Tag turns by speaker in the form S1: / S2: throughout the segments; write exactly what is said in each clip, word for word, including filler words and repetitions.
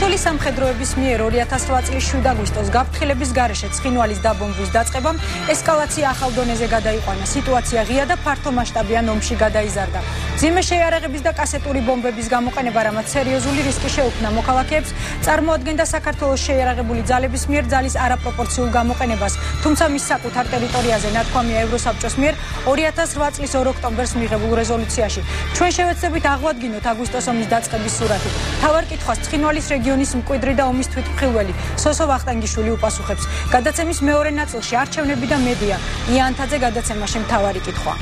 S1: ქართული სამხედროების მიერ ორი ათას რვა წლის შვიდ აგვისტოს გაფრთხილების გარეშე ცხინვალის დაბომბვის დაწყებამ ესკალაცია ახალ დონეზე გადაიყვანა. სიტუაცია ღია და ფართომასშტაბიან ომში გადაიზარდა. მძიმე შეიარაღების და კასეტური ბომბების გამოყენება, რამაც სერიოზული რისკი შეუქმნა მოქალაქეებს, წარმოადგენდა საქართველოს შეიარაღებული ძალების მიერ ძალის არაპროპორციულ გამოყენებას, თუმცა მის საკუთარ ტერიტორიაზე ნათქვამია ევროსაბჭოს მიერ ორი ათას რვა წლის ორ ოქტომბერს მიღებულ რეზოლუციაში. ჩვენ შევეცდებით აღვადგინოთ აგვისტოს ომის დაწყების სურათი. თავარ კითხვას ცხინვალის რეგიონის მკვიდრი და ომის თვითმხილველი სოსო ვახტანგიშვილი უპასუხებს. გადაცემის მეორე ნაწილში არჩევნები და მედია. იანთაძე გადაცემაში მთავარი კითხვა.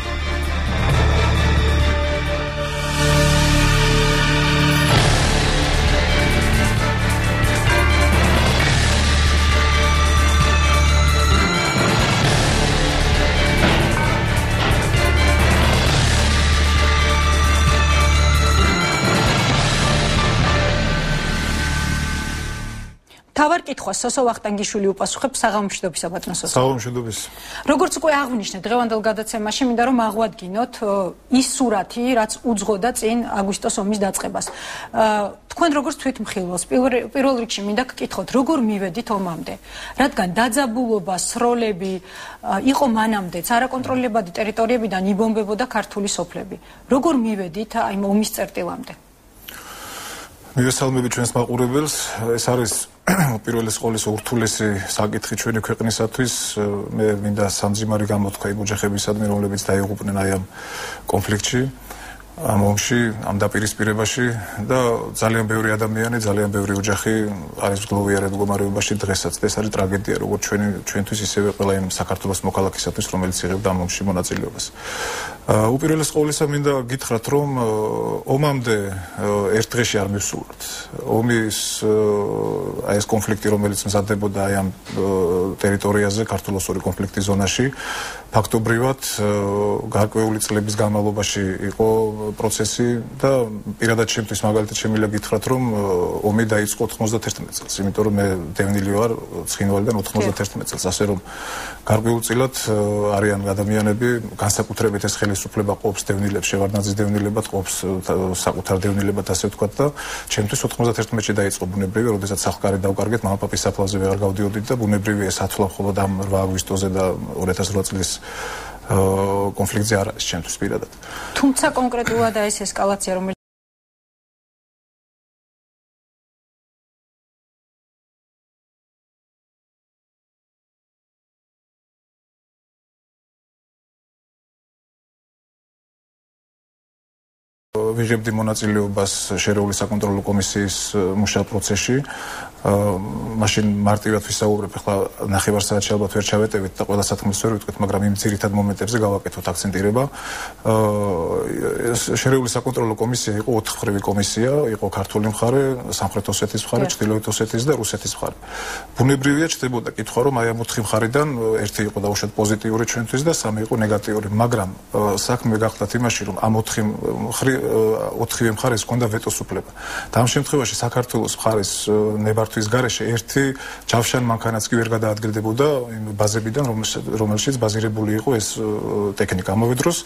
S1: თავარ კითხვას სოსო ვახტანგიშვილი უპასუხებს. საღამომშვიდობისა ბატონო სოსო.
S2: საღამომშვიდობის.
S1: როგორც უკვე აღვნიშნეთ დღევანდელ გადაცემაში, მინდა რომ აღვადგინოთ ის სურათი, რაც უძღოდა წინ აგვისტოს ომის დაწყებას. თქვენ როგორც თვითმხილველს პირველ რიგში მინდა გკითხოთ, როგორ მივედით ომამდე? რადგან დაძაბულობა, სროლები იყო მანამდეც, არაკონტროლებადი ტერიტორიებიდან იბომბებოდა ქართული სოფლები. როგორ მივედით აი ომის წერტილამდე?
S2: მივესალმები ჩვენს მაყურებელს. ეს არის პირველი სკოლის ურთულესი საკითხი ჩვენი ქვეყნისათვის. მე მინდა სამძიმარი გამოთქვა იმ ოჯახებისადმი, რომლებიც დაიღუპნენ აი ამ კონფლიქტში, ამ ომში, ამ დაპირისპირებაში და ძალიან ბევრი ადამიანი, ძალიან ბევრი ოჯახი არის გლოვიარად მდგომარეობაში დღესაც. ეს არის ტრაგედია როგორც ჩვენი ჩვენთვის, ისევე ყველა იმ საქართველოს მოქალაქისათვის, რომელიც იღებდა ამ ომში მონაწილეობას. უპირველეს ყოვლისა მინდა გითხრათ, რომ ომამდე ერთ დღეში არ მივსულოთ. ომის აი ეს კონფლიქტი, რომელიც მზადდებოდა აი ამ ტერიტორიაზე, ქართულ-ოსური კონფლიქტის ზონაში, ფაქტობრივად გარკვეული წლების განმავლობაში იყო პროცესი და პირადად ჩემთვის მაგალითად შემიძლია გითხრათ, რომ ომი დაიწყო ოთხმოცდათერთმეტ წელს, იმიტომ რომ მე დევნილი ვარ ცხინვალიდან ოთხმოცდათერთმეტ წელს, ასე რომ გარკვეულწილად არიან ადამიანები, განსაკუთრებით ეს ხელისუფლება ყოფს დევნილებს, შევარდნაძის დევნილებად ყოფს საკუთარ დევნილებად, ასე ვთქვათ და ჩემთვის ოთხმოცდათერთმეტში დაიწყო ბუნებრივი, როდესაც სახკარი დავკარგეთ, მამაპაპის საფლავზე ვეღარ გავდიოდით და ბუნებრივი ეს ათვლა მხოლოდ ამ რვა აგვისტოზე და ორი ათას რვა წლის კონფლიქტზე არ არის ჩემთვის პირადად.
S1: თუმცა კონკრეტულად ეს ესკალაცია, რომელიც
S2: ვიღებდი მონაწილეობას შერეული საკონტროლო კომისიის მუშათა პროცესში. მაშინ მარტივად ვისაუბრებ, ახლა ნახევარ საათში ალბათ ვერ ჩავეტევით და ყველა სათქმელს ვერ ვიტყვით, მაგრამ იმ ძირითად მომენტებზე გავაკეთოთ აქცენტირება. შერეული საკონტროლო კომისია იყო ოთხმხრივი კომისია, იყო ქართული მხარე, სამხრეთ ოსეთის მხარე, ჩრდილოეთ ოსეთის და რუსეთის მხარე. ბუნებრივია ჩდებოდა კითხვა, რომ აი ამ ოთხი მხარიდან ერთი იყო დაუშვათ პოზიტიური ჩვენთვის და სამი იყო ნეგატიური, მაგრამ საქმე გახდათ იმაში, რომ ამ ოთხი მხრივ ოთხივე მხარეს ჰქონდა ვეტოს უფლება. და ამ შემთხვევაში საქართველოს მხარის ნებართვის გარეშე ერთი ჯავშან მანქანაც კი ვერ გადაადგილდებოდა იმ ბაზებიდან, რომელშიც ბაზირებული იყო ეს ტექნიკა. ამავე დროს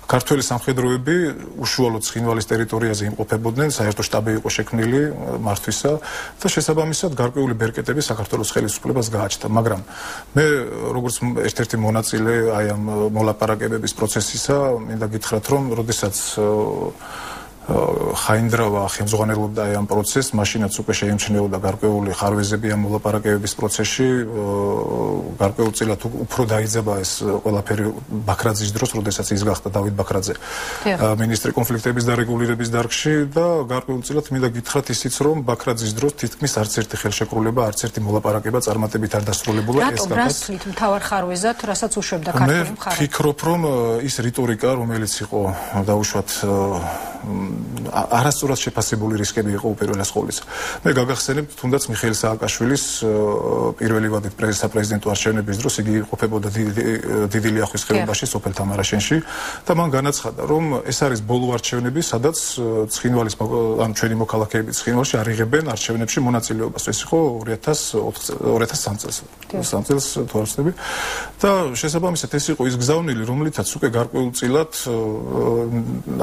S2: ქართველი სამხედროები უშუალოდ ცხინვალის ტერიტორიაზე იმყოფებოდნენ, საერთო შტაბი იყო შექმნილი მართვისა და შესაბამისად გარკვეული ბერკეტები საქართველოს ხელისუფლებას გააჩნდა, მაგრამ მე როგორც ერთ-ერთი მონაწილე აი ამ მოლაპარაკებების პროცესისა, მინდა გითხრათ, რომ როდესაც ხაინდრავა ხელმძღვანელობდა ამ პროცესს, მაშინაც უკვე შეიმჩნეოდა გარკვეული ხარვეზები ამ მოლაპარაკებების პროცესში, გარკვეულწილად უფრო დაიძაბა ეს ყველაფერი ბაქრაძის დროს, როდესაც ის გახდა დავით ბაქრაძე მინისტრი კონფლიქტების დარეგულირების დარგში და გარკვეულწილად მინდა გითხრათ ისიც, რომ ბაქრაძის დროს თითქმის არც ერთი ხელშეკრულება, არც ერთი მოლაპარაკება წარმატებით არ დასრულებულა.
S1: ეს გახდა რას თვლით მთავარ ხარვეზად, რასაც უშვებდა ქართული მხარე?
S2: მე ვფიქრობ, რომ ის რიტორიკა, რომელიც იყო დაუშვათ არასწორად შეფასებული რისკები იყო უპირველეს ყოვლისა. მე გაგახსენებთ თუნდაც მიხეილ სააკაშვილის პირველი ვადით პრეზიდენტო არჩევნების დროს იგი ყოფებოდა დიდი ლიახვის ხეობაში სოფელ თამარაშენში და მან განაცხადა, რომ ეს არის ბოლო არჩევნები, სადაც ცხინვალის ან ჩვენი მოქალაქეები ცხინვალში არ იღებენ არჩევნებში მონაწილეობას. ეს იყო ორი ათას სამ წელს. სამ წელს თუ არ ვცდები. და შესაბამისად ეს იყო ის გზავნილი, რომლითაც უკვე გარკვეულწილად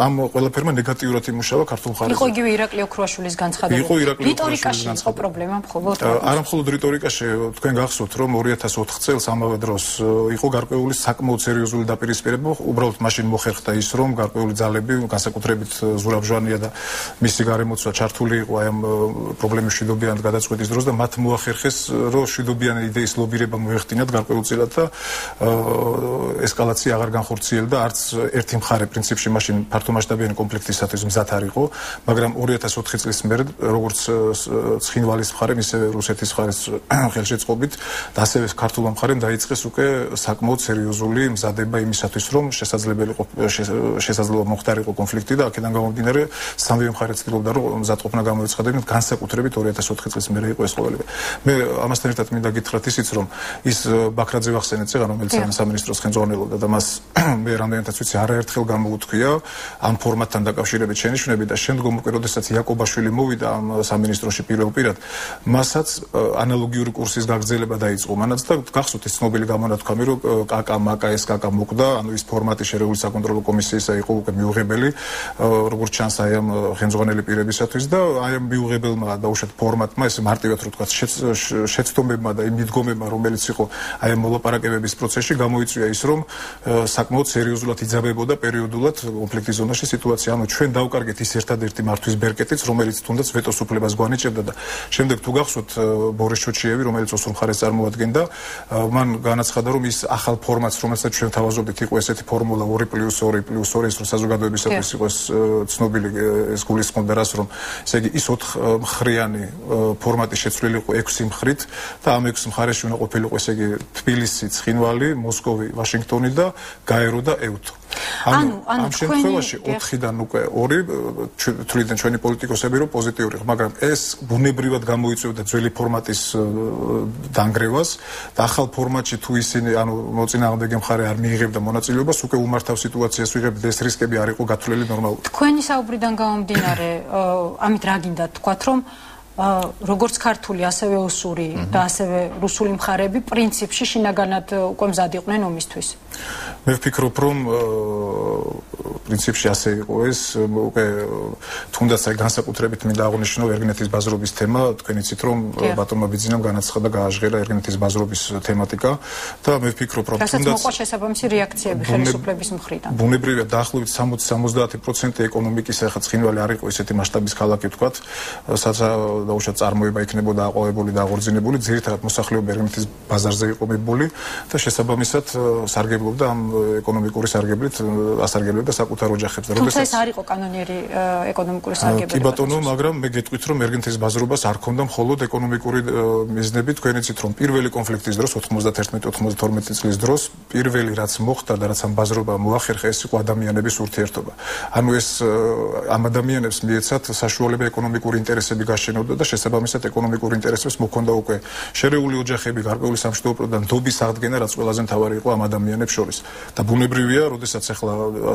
S2: ამ ყველაფერმა ნეგატიურად ერთდროულად იმუშავა ქართულ მხარეზე.
S1: იყო იგივე ირაკლი ოქროაშვილის განცხადება.
S2: იყო ირაკლი ოქროაშვილის
S1: განცხადება. იყო პრობლემა მხოლოდ.
S2: არა მხოლოდ რიტორიკაში, თქვენ გახსოვთ, რომ ორი ათას ოთხ წელს ამავე დროს იყო გარკვეული საკმაოდ სერიოზული დაპირისპირება, უბრალოდ მაშინ მოხერხდა ის, რომ გარკვეული ძალები, განსაკუთრებით ზურაბ-ჟვანია და მისი გარემოცვა ჩართული იყო აი ამ პრობლემის მშვიდობიან გადაწყვეტის დროს და მათ მოახერხეს, რომ მშვიდობიანი იდეის ლობირება მოეხდინათ გარკვეულწილად და ესკალაცია აღარ განხორციელდა არც ერთი მხარე პრინციპში მაშინ ფართომასშტაბიანი კონფლიქტისათვის მზად არ იყო, მაგრამ ორი ათას ოთხი წლის მერე როგორც ცხინვალის მხარემ, ისევე რუსეთის მხარეს ხელშეწყობით და ასევე ქართულ მხარემ დაიწყეს უკვე საკმაოდ სერიოზული მზადება იმისათვის, რომ შესაძლებელი შესაძლოა მოხდარიყო კონფლიქტი და აქედან გამომდინარე სამივე მხარე ცდილობდა, რომ მზადყოფნა გამოეცხადებინათ, განსაკუთრებით ორი ათას ოთხი წლის მერე იყო ეს ყოველივე. მე ამასთან ერთად მინდა გითხრათ ისიც, რომ ის ბაქრაძე ვახსენეთ წეღან, რომელიც სამინისტროს ხელმძღვანელობდა და მას მე რამდენადაც ვიცი არაერთხელ გამოუთქვია ამ ფორმატთან დაკავშირებით შენიშვნები და შემდგომ უკვე როდესაც იაკობაშვილი მოვიდა ამ სამინისტროში პირველ პირად, მასაც ანალოგიური კურსის გაგრძელება დაიწყო მანაც და გახსოვთ ის ცნობილი გამონათქვამი, რომ კაკა მაკა ეს კაკა მოკვდა, ანუ ის ფორმატი შერეული საკონტროლო კომისიისა იყო უკვე მიუღებელი, როგორც ჩანს აი ამ ხელმძღვანელი პირებისათვის და აი ამ მიუღებელმა დაუშვათ ფორმატმა, ეს მარტივად რო ვთქვათ, შეცდომებმა და იმ მიდგომებმა, რომელიც იყო აი ამ მოლაპარაკებების პროცესში, გამოიწვია ის, რომ საკმაოდ სერიოზულად იძაბებოდა პერიოდულად კონფლიქტის ზონაში სიტუაცია. ანუ ჩვენ დავკარგეთ ის ერთადერთი მართვის ბერკეტიც, რომელიც თუნდაც ვეტოს უფლებას გვანიჭებდა და შემდეგ თუ გახსოვთ ბორის ჩოჩიევი, რომელიც ოსურ მხარეს წარმოადგენდა, მან განაცხადა, რომ ის ახალ ფორმატს, რომელსაც ჩვენ თავაზობდით, იყო ესეთი ფორმულა ორი პლუს ორი პლუს ორი, ის რომ საზოგადოებისათვის იყოს ცნობილი ეს გულისხმობდა რას, რომ ესე იგი ის ოთხ მხრიანი ფორმატი შეცვლილი იყო ექვსი მხრით და ამ ექვსი მხარეში უნდა ყოფილიყო ესე იგი თბილისი, ცხინვალი, მოსკოვი, ვაშინგტონი და გაერო და ევთო. ანუ ამ შემთხვევაში ოთხიდან უკვე ორი თვლიდნენ ჩვენი პოლიტიკოსები, რომ პოზიტიური, მაგრამ ეს ბუნებრივად გამოიწვევდა ძველი ფორმატის დანგრევას და ახალ ფორმატში თუ ისინი, ანუ მოწინააღმდეგე მხარე არ მიიღებდა მონაწილეობას, უკვე უმართავ სიტუაციას ვიღებთ, ეს რისკები არ იყო გათვლილი ნორმალურად.
S1: თქვენი საუბრიდან გამომდინარე, ამით რა გინდა თქვათ, რომ როგორც ქართული, ასევე ოსური და ასევე რუსული მხარეები პრინციპში შინაგანად უკვე მზად იყვნენ ომისთვის.
S2: მე ვფიქრობ, რომ პრინციპში ასე იყო ეს, უკვე თუნდაც აი განსაკუთრებით მინდა აღვნიშნო ერგინეთის ბაზრობის თემა, თქვენ იცით, რომ ბატონმა ბიძინამ განაცხადა, გააჟღერა ერგინეთის ბაზრობის თემატიკა და მე ვფიქრობ, რომ
S1: თუნდაც მოყვა შესაბამისი რეაქციები ხელისუფლების მხრიდან.
S2: ბუნებრივია, დაახლოებით სამოცი სამოცდაათი პროცენტი ეკონომიკის ახლა ცხინვალი არ იყო ესეთი მასშტაბის ქალაქი, ვთქვათ, სადაც დაუშვათ წარმოება იქნებოდა აყვავებული და აღორძინებული, ძირითადად მოსახლეობა ერგინეთის ბაზარზე იყო მიბული და შესაბამისად სარგებლობდა ამ ეკონომიკური სარგებლით, ასარგებლებდა საკუთარ ოჯახებს.
S1: თუმცა ეს არ იყო კანონიერი ეკონომიკური სარგებლობა.
S2: კი ბატონო, მაგრამ მე გეტყვით, რომ ერგინეთის ბაზრობას არ ჰქონდა მხოლოდ ეკონომიკური მიზნები, თქვენ იცით, რომ პირველი კონფლიქტის დროს ოთხმოცდაერთმეტი ოთხმოცდათორმეტი წლის დროს პირველი რაც მოხდა და რაც ამ ბაზრობამ მოახერხა, ეს იყო ადამიანების ურთიერთობა. ანუ ეს ამ ადამიანებს მიეცათ საშუალება ეკონომიკური ინტერესები გაშენოდა და შესაბამისად ეკონომიკურ ინტერესებს მოქონდა უკვე შერეული ოჯახები, გარკვეული სამშვიდობო და ნდობის აღდგენა, რაც ყველაზე მთავარი იყო ამ ადამიანებს შორის. და ბუნებრივია, როდესაც ახლა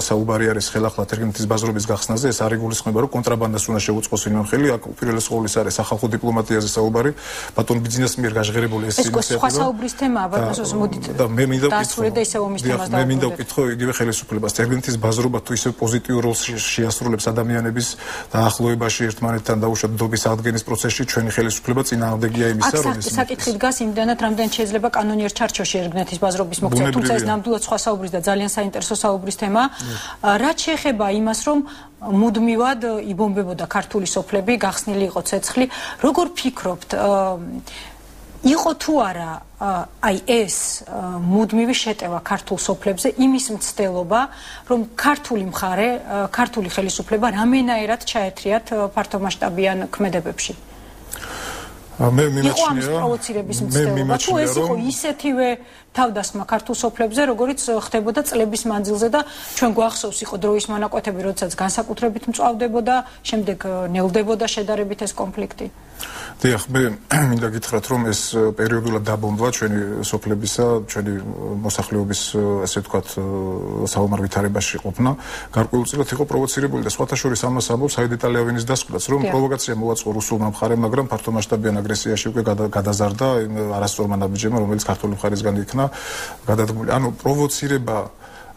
S2: საუბარი არის ხელახლა ერგინეთის ბაზრობის გახსნაზე, ეს არ იგულისხმება, რომ კონტრაბანდას უნდა შეუწყოს ვინმე ხელი, აქ უპირველეს ყოვლისა არის სახალხო დიპლომატიაზე საუბარი, ბატონ ბიძინას მიერ გაშღერებული ეს
S1: ინიციატივა. ეს სხვა საუბრის თემაა, ბატონო, მოდით
S2: და მე მინდა
S1: ვკითხო და ისევ ომის თემას
S2: დავუბრუნდეთ. მე მინდა ვკითხო იგივე ხელისუფლებას, ერგინეთის ბაზრობა თუ ისევ პოზიტიურ როლს შეასრულებს ადამიანების დაახლოებაში ერთმანეთთან დაუშვათ ნდობის აღდგენის პროცესში, ჩვენი ხელისუფლება წინააღმდეგია იმისა, რომ
S1: ეს საკითხი დგას იმდანაც, რამდენიც შეიძლება კანონიერ ჩარჩოში ერგინეთის ბაზრობის მოქცევა, თუმცა ეს ნამდვილად სხვა საუბრის და ძალიან საინტერესო საუბრის თემა. რაც შეეხება იმას, რომ მუდმივად იბომბებოდა ქართული სოფლები, გახსნილი იყო ცეცხლი, როგორ ფიქრობთ, იყო თუ არა აი ეს მუდმივი შეტევა ქართულ სოფლებზე, იმის მცდელობა, რომ ქართული მხარე, ქართული ხელისუფლება რამენაერად ჩაეთრიათ ფართომასშტაბიან ქმედებებში?
S2: მე მიმაჩნია,
S1: იყო პროვოცირების მცდელობა, თუ ეს იყო ისეთივე თავდასხმა ქართულ სოფლებზე, როგორც ხდებოდა წლების მანძილზე და ჩვენ გვახსოვს იყო დროის მონაკვეთები, როდესაც განსაკუთრებით მწვავდებოდა, შემდეგ ნელდებოდა შედარებით ეს კონფლიქტი.
S2: დიახ, მე მინდა გითხრათ, რომ ეს პერიოდულად დაბომბვა ჩვენი სოფლებისა, ჩვენი მოსახლეობის, ასე ვთქვათ, საომარ ვითარებაში ყოფნა, გარკვეულწილად იყო პროვოცირებული და სხვათა შორის ამას ამბობს საიდ იტალიავენის დასკვნაც, რომ პროვოკაცია მოაწყო რუსულმა მხარემ, მაგრამ ფართომასშტაბიან აგრესიაში უკვე გადაზარდა იმ არასწორმა ნაბიჯებმა, რომელიც ქართული მხარისგან იქნა გადადგმული. ანუ პროვოცირება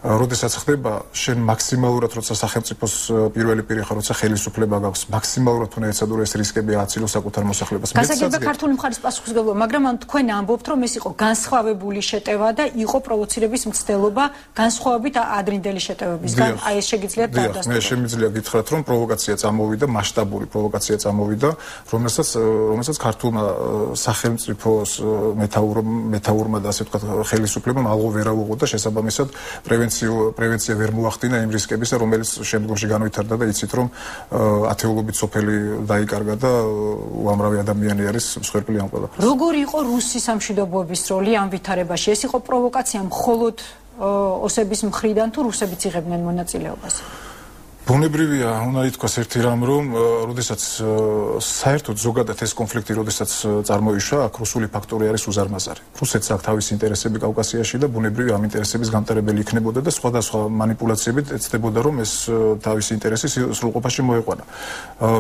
S2: როდესაც ხდება შენ მაქსიმალურად როცა სახელმწიფოს პირველი პირი ხარ, როცა ხელისუფლება გაქვს, მაქსიმალურად უნდა ეცადო ეს რისკები ააცილო საკუთარ მოსახლეობას.
S1: გასაგებია ქართული მხარის პასუხისმგებლობა, მაგრამ ამ თქვენ ამბობთ, რომ ეს იყო განსხვავებული შეტევა და იყო პროვოცირების მცდელობა განსხვავებით ადრინდელი შეტევებისგან. აი ეს შეგიძლიათ
S2: დავდასტუროთ. მე შემიძლია გითხრათ, რომ პროვოკაცია წამოვიდა, მასშტაბური პროვოკაცია წამოვიდა, რომელსაც რომელსაც ქართულმა სახელმწიფოს მეთაურმა და ასე ვთქვათ ხელისუფლებამ ალღო ვერ აუღო და შესაბამისად პრევენცია ვერ მოახდინა იმ რისკებისა, რომელიც შემდგომში განვითარდა და იცით, რომ ათეულობით სოფელი დაიკარგა და უამრავი ადამიანი არის მსხვერპლი ამ ყველაფერს.
S1: როგორი იყო რუსის სამშვიდობოების როლი ამ ვითარებაში? ეს იყო პროვოკაცია მხოლოდ ოსების მხრიდან თუ რუსებიც იღებდნენ მონაწილეობას?
S2: ბუნებრივია, უნდა ითქვას ერთი რამ, რომ როდესაც საერთოდ ზოგადად ეს კონფლიქტი როდესაც წარმოიშვა, აქ რუსული ფაქტორი არის უზარმაზარი. რუსეთს აქვს თავისი ინტერესები კავკასიაში და ბუნებრივია ამ ინტერესების გამტარებელი იქნებოდა და სხვადასხვა манипуляციებით ეცდებოდა, რომ ეს თავისი ინტერესი სრულყოფაში მოეყვანა.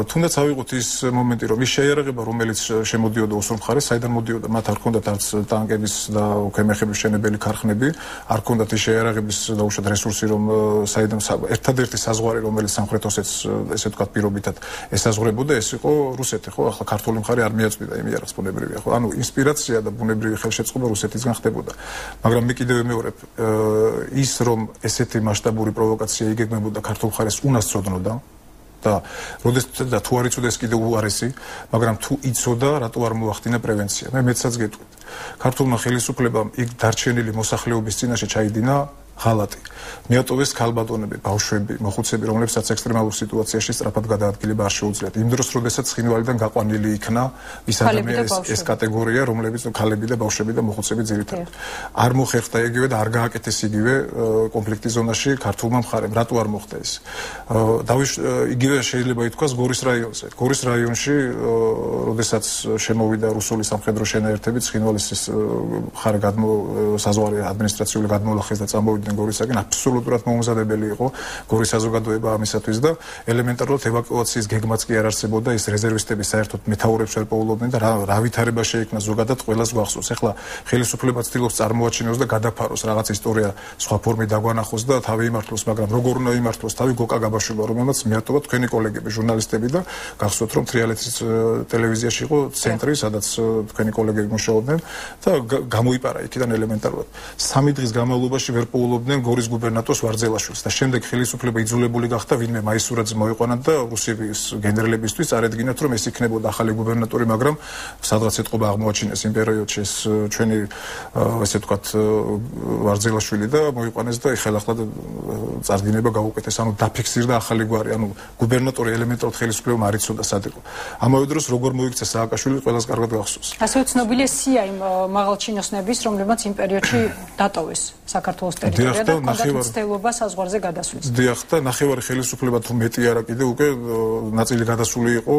S2: თუნდაც ავიღოთ ის მომენტი, რომ ის შეიარაღება, რომელიც შემოდიოდა ოსურ მხარეს, საიდან მოდიოდა, მათ არ ჰქონდათ არც ტანკების და უქემეხების შენებელი ქარხნები, არ ჰქონდათ ის შეიარაღების დაუშვათ რესურსი, რომ საიდან ერთადერთი საზღვარი რომელიც სამხრეთ ოსეთს ესე ვთქვათ პირობითად ესაზღვრებოდა, ეს იყო რუსეთი, ხო? ახლა ქართული მხარე არ მიაწვიდა იმ იარაღს, ბუნებრივია, ხო? ანუ ინსპირაცია და ბუნებრივი ხელშეწყობა რუსეთისგან ხდებოდა. მაგრამ მე კიდევ ვიმეორებ, ის რომ ესეთი მასშტაბური პროვოკაცია იგეგმებოდა ქართულ მხარეს უნას წოდნოდა და როდესაც და თუ არ იცოდეს კიდევ უარესი, მაგრამ თუ იცოდა, რატო არ მოახდინა პრევენცია? მე მეცაც გეტყვით. ქართულმა ხელისუფლებამ იქ დარჩენილი მოსახლეობის წინაშე ჩაიდინა ღალატი. მიატოვეს ქალბატონები, ბავშვები, მოხუცები, რომლებსაც ექსტრემალურ სიტუაციაში სწრაფად გადაადგილება არ შეუძლიათ. იმ დროს, როდესაც ცხინვალიდან გაყვანილი იქნა ის ადამიანის ეს კატეგორია, რომლებიც ქალები და ბავშვები და მოხუცები ძირითადად. არ მოხერხდა იგივე და არ გააკეთეს იგივე კონფლიქტის ზონაში ქართულმა მხარემ. რატო არ მოხდა ეს? დავიშ იგივე შეიძლება ითქვას გორის რაიონზე. გორის რაიონში, როდესაც შემოვიდა რუსული სამხედრო შენაერთები, ცხინვალის მხარე გადმო საზღვარი ადმინისტრაციული გადმოლახეს და წამოვიდნენ გორისაკენ, აბსოლუტურად მოუმზადებელი იყო გორის საზოგადოება ამისათვის და ელემენტარულად ევაკუაციის გეგმაც კი არ არსებობდა, ის რეზერვისტები საერთოდ მეთაურებს ვერ პოულობდნენ და რა ვითარება შეიქმნა ზოგადად ყველას გვახსოვს. ეხლა ხელისუფლება ცდილობს წარმოაჩინოს და გადაფაროს რაღაც ისტორია სხვა ფორმით დაგვანახოს და თავი იმართლოს, მაგრამ როგორ უნდა იმართლოს? თავი გოკა გაბაშვილა, რომელმაც მიატოვა თქვენი კოლეგები, ჟურნალისტები და გახსოვთ, რომ თრიალეთის ტელევიზიაში იყო ცენტრი, სადაც თქვენი კოლეგები მუშაობდნენ და გამოიპარა იქიდან ელემენტარულად. სამი დღის განმავლობაში ვერ პოულობდნენ გორის გუბერნატორს ვარძელაშვილს და შემდეგ ხელისუფლება იძულებული გახდა ვინმე მაისურაძე მოიყვანათ და რუსების გენერლებისთვის წარედგინათ, რომ ეს იქნებოდა ახალი გუბერნატორი, მაგრამ სადღაც ეთყობა აღმოაჩინეს იმ პერიოდში ეს ჩვენი ესე ვთქვათ ვარძელაშვილი და მოიყვანეს და ხელახლა წარდგინება გაუკეთეს, ანუ დაფიქსირდა ახალი გვარი, ანუ გუბერნატორი ელემენტარულად ხელისუფლებამ არ იცოდა სად იყო. ამავე დროს როგორ მოიქცა სააკაშვილი ყველას კარგად გახსოვს.
S1: ასევე ცნობილია სია იმ მაღალჩინოსნების, რომლებმაც იმ პერიოდში დატოვეს საქართველოს ტერიტორია და კონდაკტ ცდელობა საზღვარზე გადასვლის.
S2: დიახ და ნახევარი ხელისუფლება თუ მეტი არა კიდე უკვე ნაწილი გადასული იყო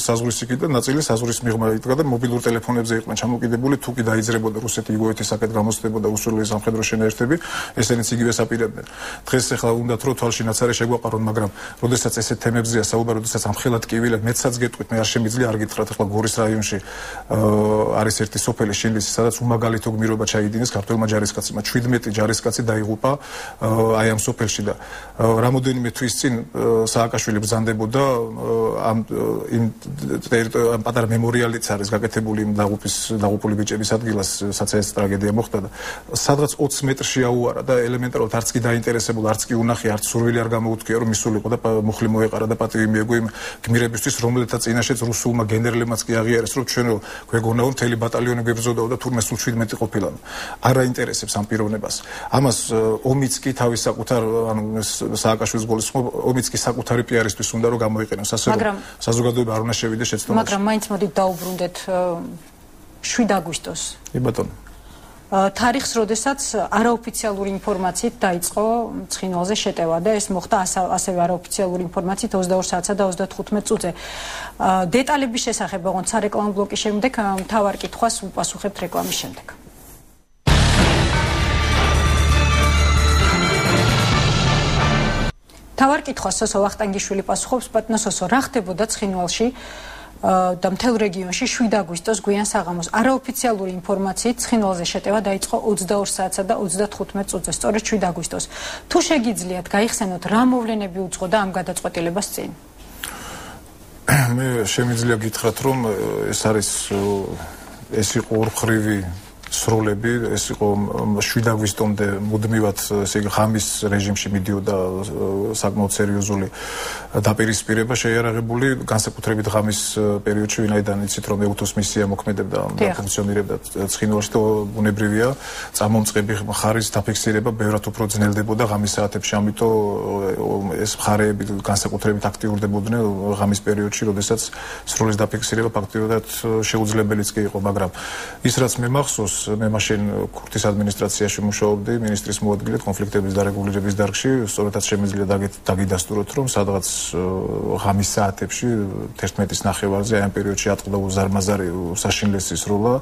S2: საზღვრის იქით და ნაწილი საზღვრის მიღმა იდგა და მობილურ ტელეფონებზე იყვნენ ჩამოკიდებული, თუ კი დაიძრებოდა რუსეთი იგივეთი საკეთ გამოსდებოდა უსურველი სამხედრო შენაერთები, ესენიც იგივე საპირებდნენ. დღეს ახლა უნდათ რომ თვალში ნაცარი შეგვაყარონ, მაგრამ როდესაც ესეთ თემებზეა საუბარი, როდესაც ამხელად კივილად მეცაც გეტყვით, მე არ შემიძლია არ გითხრათ, ახლა გორის რაიონში არის ერთი სოფელი შინლისი, სადაც უმაგალითო გმირობა ჩაიდინეს ქართველმა ჯარისკაცებმა, შვიდმეტი ჯარისკაცი დაიღუპა აი ამ სოფელში და რამოდენიმე თვის წინ სააკაშვილი ბრძანდებოდა ამ იმ პატარა მემორიალიც არის გაკეთებული იმ დაღუპის დაღუპული ბიჭების ადგილას, სადაც ეს ტრაგედია მოხდა და სადღაც ოცი მეტრში აუარა და ელემენტარულად არც კი დაინტერესებულ, არც კი უნახი, არც სურვილი არ გამოუთქია, რომ მისულიყო და მუხლი მოეყარა და პატივი მიეგო იმ გმირებისთვის, რომელთა წინაშეც რუსულმა გენერლებმაც კი აღიარეს, რომ ჩვენ გვეგონაო მთელი ბატალიონი გვებრძოდაო და თურმე სულ შვიდმეტი ყოფილა. არ აინტერესებს ამ პიროვნებას. ამას ომიც კი თავის საკუთარ ანუ სააკაშვილის გოლის ომიც კი საკუთარი პიარისთვის უნდა რომ გამოიყენოს, ასე რომ საზოგადოება არ უნდა შევიდეს შეცდომაში.
S1: მაგრამ მაინც მოდით დაუბრუნდეთ შვიდ აგვისტოს.
S2: კი ბატონო.
S1: თარიღს, როდესაც არაოფიციალური ინფორმაციით დაიწყო ცხინვალზე შეტევა და ეს მოხდა ასევე არაოფიციალური ინფორმაციით ოცდაორ საათსა და ოცდათხუთმეტ წუთზე. დეტალების შესახებ ოღონდ სარეკლამო ბლოკის შემდეგ მთავარ კითხვას უპასუხებთ რეკლამის შემდეგ. თავარ კითხვას სოსო ვახტანგიშვილი პასუხობს. ბატონო სოსო, რა ხდებოდა ცხინვალში და მთელ რეგიონში შვიდ აგვისტოს გვიან საღამოს არაოფიციალური ინფორმაციით ცხინვალზე შეტევა დაიწყო ოცდაორ საათსა და ოცდათხუთმეტ წუთზე, სწორედ შვიდ აგვისტოს. თუ შეგიძლიათ გაიხსენოთ, რა მოვლენები უძღოდა ამ გადაწყვეტილებას წინ?
S2: მე შემიძლია გითხრათ, რომ ეს არის ეს იყო ორმხრივი სროლები, ეს იყო შვიდ აგვისტომდე მუდმივად, ესე იგი ღამის რეჟიმში მიდიოდა საკმაოდ სერიოზული დაპირისპირება შეიარაღებული, განსაკუთრებით ღამის პერიოდში, ვინაიდან იცით, რომ ეუთოს მისია მოქმედებდა და ფუნქციონირებდა ცხინვალში, და ბუნებრივია წამომწყები მხარის დაფიქსირება ბევრად უფრო ძნელდებოდა ღამის საათებში, ამიტომ ეს მხარეები განსაკუთრებით აქტიურდებოდნენ ღამის პერიოდში, როდესაც სროლის დაფიქსირება ფაქტიურად შეუძლებელიც კი იყო, მაგრამ ის რაც მე მახსოვს, მე მაშინ ქურთის ადმინისტრაციაში მუშაობდი მინისტრის მოადგილედ კონფლიქტების დარეგულირების დარგში, სწორედაც შემიძლია დაგიდასტუროთ, რომ სადღაც ღამის საათებში თერთმეტის ნახევარზე აი ამ პერიოდში ატყდა უზარმაზარი საშინლესი სროლა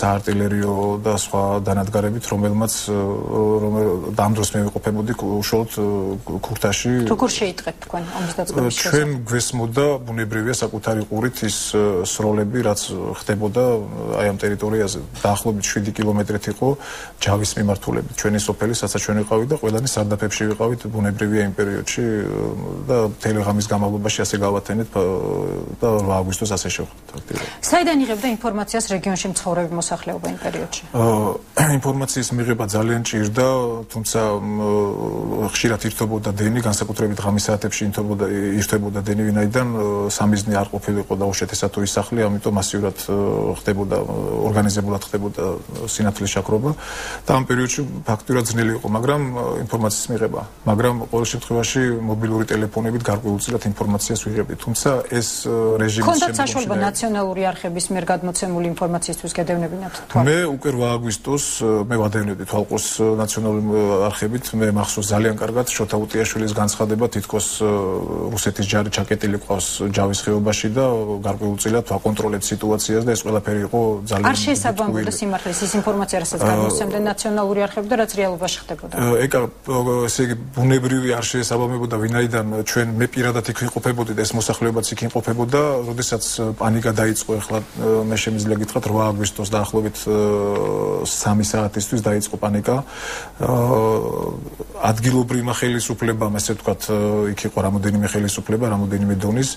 S2: საარტილერიო და სხვა დანადგარებით, რომელმაც ამ დროს მე ვიყოფებოდი უშუალოდ ქურთაში.
S1: როგორ შეიტყეთ თქვენ ომის დაწყების შესახებ?
S2: ჩვენ გვესმოდა ბუნებრივია საკუთარი ყურით ის სროლები, რაც ხდებოდა აი ამ ტერიტორიაზე. დაახლოებით შვიდი კილომეტრით იყო ჯავის მიმართულებით. ჩვენი სოფელი, სადაც ჩვენ ვიყავით და ყველანი სარდაფებში ვიყავით ბუნებრივია იმ პერიოდში და მთელი ღამის განმავლობაში ასე გავათენეთ და ორ აგვისტოს ასე შევხვდით.
S1: საიდან იღებდა ინფორმაციას რეგიონში მცხოვრები მოსახლეობა იმ პერიოდში?
S2: ინფორმაციის მიღება ძალიან ჭირდა, თუმცა ხშირად ირთვებოდა დენი, განსაკუთრებით ღამის საათებში ირთვებოდა დენი, ვინაიდან სამიზნე არ ყოფილიყო დაუშვეთესად თუ ის სახლი, ამიტომ მასიურად ხდებოდა, ორგანიზებულად ხდებოდა სინათლის შაქრობა და ამ პერიოდში ფაქტურად ძნელი იყო, მაგრამ ინფორმაციის მიღება, მაგრამ ყოველ შემთხვევაში მობილური ტელეფონებით გარკვეულწილად ინფორმაციას ვიღებდი, თუმცა ეს რეჟიმის
S1: შემდგომში ქონდათ საშუალება ნაციონალური არხების მიერ გადმოცემული ინფორმაციისთვის გადევნებინათ თვალყოს? მე
S2: უკვე რვა აგვისტოს მე ვადევნებდი თვალყოს ნაციონალური არხებით, მე მახსოვს ძალიან კარგად შოთა უტიაშვილის განცხადება, თითქოს რუსეთის ჯარი ჩაკეტილი ყავს ჯავის ხეობაში და გარკვეულწილად ვაკონტროლებთ სიტუაციას და ეს ყველაფერი იყო ძალიან
S1: არ შესაბამებოდა სიმართლეს ის ინფორმაცია, რასაც გამოსცემდნენ ნაციონალური არხები და რაც რეალობაში ხდებოდა.
S2: ეკა, ესე იგი ბუნებრივი არ შესაბამებოდა, ვინაიდან ჩვენ მე პირადად იქ ვიყოფებოდი და ეს მოსახლეობაც იქ იმყოფებოდა, როდესაც პანიკა დაიწყო, ახლა მე შემიძლია გითხრათ რვა აგვისტოს დაახლოებით სამი საათისთვის დაიწყო პანიკა. ადგილობრივმა ხელისუფლებამ, ასე ვთქვათ, იქ იყო რამოდენიმე ხელისუფლება, რამოდენიმე დონის,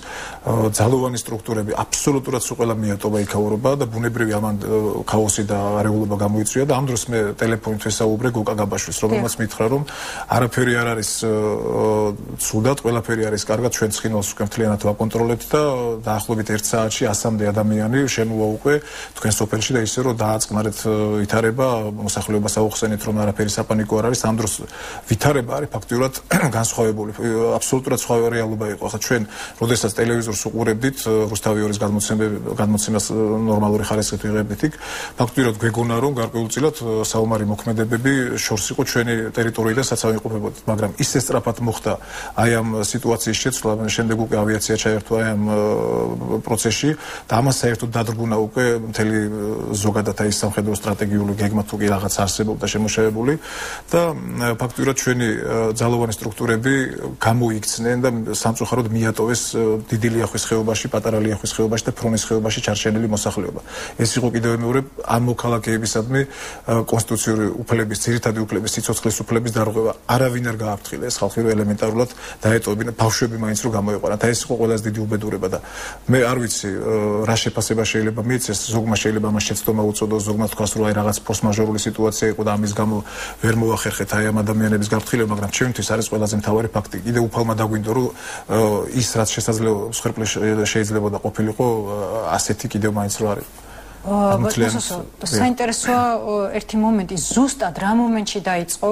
S2: ძალოვანი სტრუქტურები აბსოლუტურად სულ ყველა მიატოვა იქაურობა და ბუნებრივი ამან ქაოსი და არეულობა გამოიწვია და ამ დროს მე ტელეფონით ვესაუბრე გოკა გაბაშვილს, რომელმაც მითხრა, რომ არაფერი არ არის ცუდად, ყველაფერი არის კარგად, ჩვენ ცხინვალს უკვე მთლიანად ვაკონტროლებთ და დაახლოებით ერთ საათში ასამდე ადამიანი შემოვა უკვე თქვენ სოფელში და ისე რომ დააწყნარეთ ვითარება, მოსახლეობას აუხსენეთ, რომ არაფერი საპანიკო არ არის. ამ დროს ვითარება არის ფაქტიურად განსხვავებული, აბსოლუტურად სხვა რეალობა იყო. ახლა ჩვენ როდესაც ტელევიზორს უყურებდით, რუსთავი ორის გადმოცემას ნორმალური ხარისხით ვიღებდით იქ, ფაქტურად გვეგონა, რომ გარკვეულწილად საომარი მოქმედებები შორს იყო ჩვენი ტერიტორიიდან საცავი იყოფებოდით, მაგრამ ისე სწრაფად მოხდა აი ამ სიტუაციის შეცვლა, შემდეგ უკვე ავიაცია ჩაერთვა აი ამ პროცესში და ამას საერთოდ დადგუნა უკვე მთელი ზოგადად აი სამხედრო სტრატეგიული გეგმა თუ კი რაღაც არსებობდა შემოშევებული და ფაქტურად ჩვენი ძალოვანი სტრუქტურები გამოიქცნენ და სამწუხაროდ მიატოვეს დიდი ლიახვის ხეობაში, პატარა ლიახვის ხეობაში და ფრონის ხეობაში ჩარჩენილი მოსახლეობა. ეს იყო კიდევ მეორე ამ მოქალაქეებისადმი კონსტიტუციური უფლების, ძირითადი უფლების, სიცოცხლის უფლების დარღვევა. არავინ არ გააფრთხილეს, ხალხი რო ელემენტარულად დაეტოვებინა, ბავშვები მაინც რო გამოეყვანა და ეს იყო ყველაზე დიდი უბედურება და მე არ ვიცი რა შეფასება შეიძლება მიეცეს, ზოგმა შეიძლება მას შეცდომა უწოდოს, ზოგმა თქვას რომ აი რაღაც ფორს-მაჟორული სიტუაცია იყო და ამის გამო ვერ მოახერხეთ აი ამ ადამიანების გაფრთხილება, მაგრამ ჩემთვის არის ყველაზე მთავარი ფაქტი. კიდე უფალმა დაგვინდო რომ ის რაც შესაძლოა მსხვერპლი შეიძლება და ყოფილიყო, ასეთი კიდევ მაინც რო არის.
S1: საინტერესოა ერთი მომენტი, ზუსტად რა მომენტში დაიწყო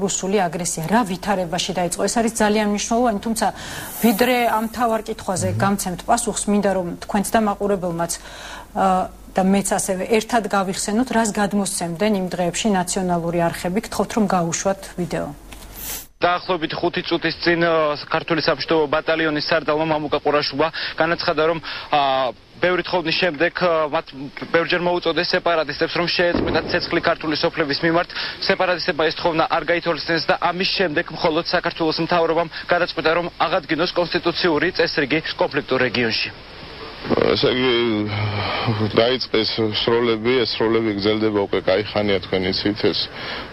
S1: რუსული აგრესია, რა ვითარებაში დაიწყო, ეს არის ძალიან მნიშვნელოვანი, თუმცა ვიდრე ამ თავარ კითხვაზე გამცემთ პასუხს, მინდა რომ თქვენც და მაყურებელმაც და მეც ასევე ერთად გავიხსენოთ, რას გადმოსცემდნენ იმ დღეებში ნაციონალური არხები, გთხოვთ რომ გაუშვათ ვიდეო.
S3: დაახლოებით ხუთი წუთის წინ ქართული საბჭოთა ბატალიონის სარდალმა მამუკა ყურაშვილმა განაცხადა, რომ ბევრი თხოვნის შემდეგ მათ ბევრჯერ მოუწოდეს სეპარატისტებს, რომ შეეწყვიტათ ცეცხლი ქართული სოფლების მიმართ. სეპარატისტებმა ეს თხოვნა არ გაითვალისწინეს და ამის შემდეგ მხოლოდ საქართველოს მთავრობამ გადაწყვიტა, რომ აღადგინოს კონსტიტუციური წესრიგი კონფლიქტურ რეგიონში.
S4: ესე იგი დაიწყეს სროლები, ეს სროლები გრძელდება უკვე კაი ხანია თქვენ იცით ეს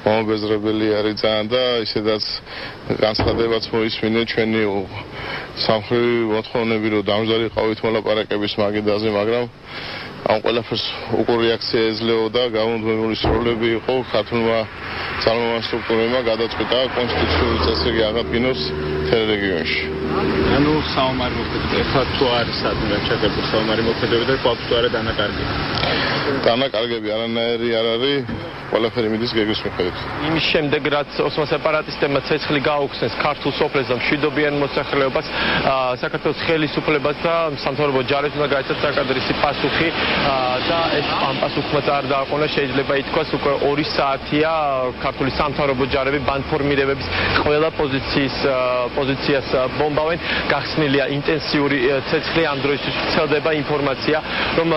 S4: მომბეზრებელი არის ძალიან და ისედაც განცხადებაც მოისმინე ჩვენი სამხედრო მოთხოვნები რომ დამждარიყავით მოლაპარაკების მაგიდაზე, მაგრამ ამ ყველაფერს უკვე რეაქცია ეძლეოდა, გამუდმებული სროლები იყო ქართულმა ძალოვან სტრუქტურებმა გადაწყვიტა კონსტიტუციური წესრიგი აღადგინოს მთელ რეგიონში.
S3: ანუ საომარი მოქმედება თუ არის სადმე ჩაგებული საომარი მოქმედება და ყავს თუ არა დანაკარგები.
S4: დანაკარგები არანაირი არ არის, ყველაფერი მიდის გეგმის მიხედვით.
S5: იმის შემდეგ რაც ოსმალ სეპარატისტებმა ცეცხლი გაუხსნეს ქართულ სოფლებს და მშვიდობიან მოსახლეობას, საქართველოს ხელისუფლებას და სამთავრობო ჯარებს უნდა გაიცათ საკადრისი პასუხი და ეს ამ პასუხმა არ დააყონა, შეიძლება ითქვას უკვე ორი საათია ქართული სამთავრობო ჯარები ბანდფორმირებების ყველა პოზიციის პოზიციას ბომბავენ. გახსნილია ინტენსიური ცეცხლი, ამ დროისთვის ვრცელდება ინფორმაცია, რომ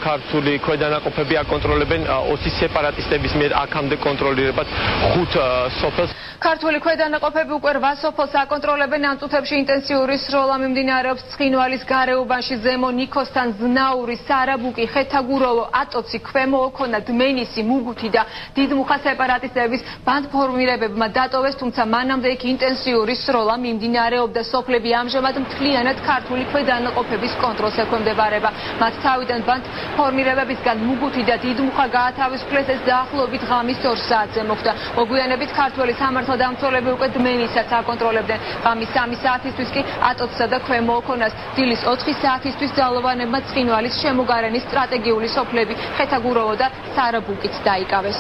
S5: ქართული ქვედანაყოფები აკონტროლებენ ოსი სეპარატისტების მიერ აქამდე კონტროლირებად ხუთ სოფელს.
S6: ქართული ქვედანაყოფები უკვე რვა სოფელს აკონტროლებენ. ამ წუთებში ინტენსიური სროლა მიმდინარეობს ცხინვალის გარეუბანში, ზემო ნიქოსთან, ზნაური, სარაბუკი, ხეთაგუროვო, ატოცი, ქვემო ოქონა, დმენისი, მუგუთი და დიდმუხა სეპარატისტების ბანდფორმირებებმა დატოვეს, თუმცა მანამდე იქ ინტენსიური სროლა მიმდინარეობდა. სოფლები ამჟამად მთლიანად ქართული ქვედანაყოფების კონტროლს ექვემდებარება. მათ თავიდან ბანდფორმირებებისგან მუგუთი და დიდმუხა გაათავისუფლეს. ეს დაახლოებით ღამის ორ საათზე მოხდა. მოგვიანებით ქართველი სამართალდამცველები უკვე დმენისაც აკონტროლებდნენ. ღამის სამი საათისთვის კი ატოცსა და ქვემო ოქონას, დილის ოთხი საათისთვის ძალოვანებმა ცხინვალის შემოგარენის სტრატეგიული სოფლები ხეთაგუროვო და სარაბუკიც დაიკავეს.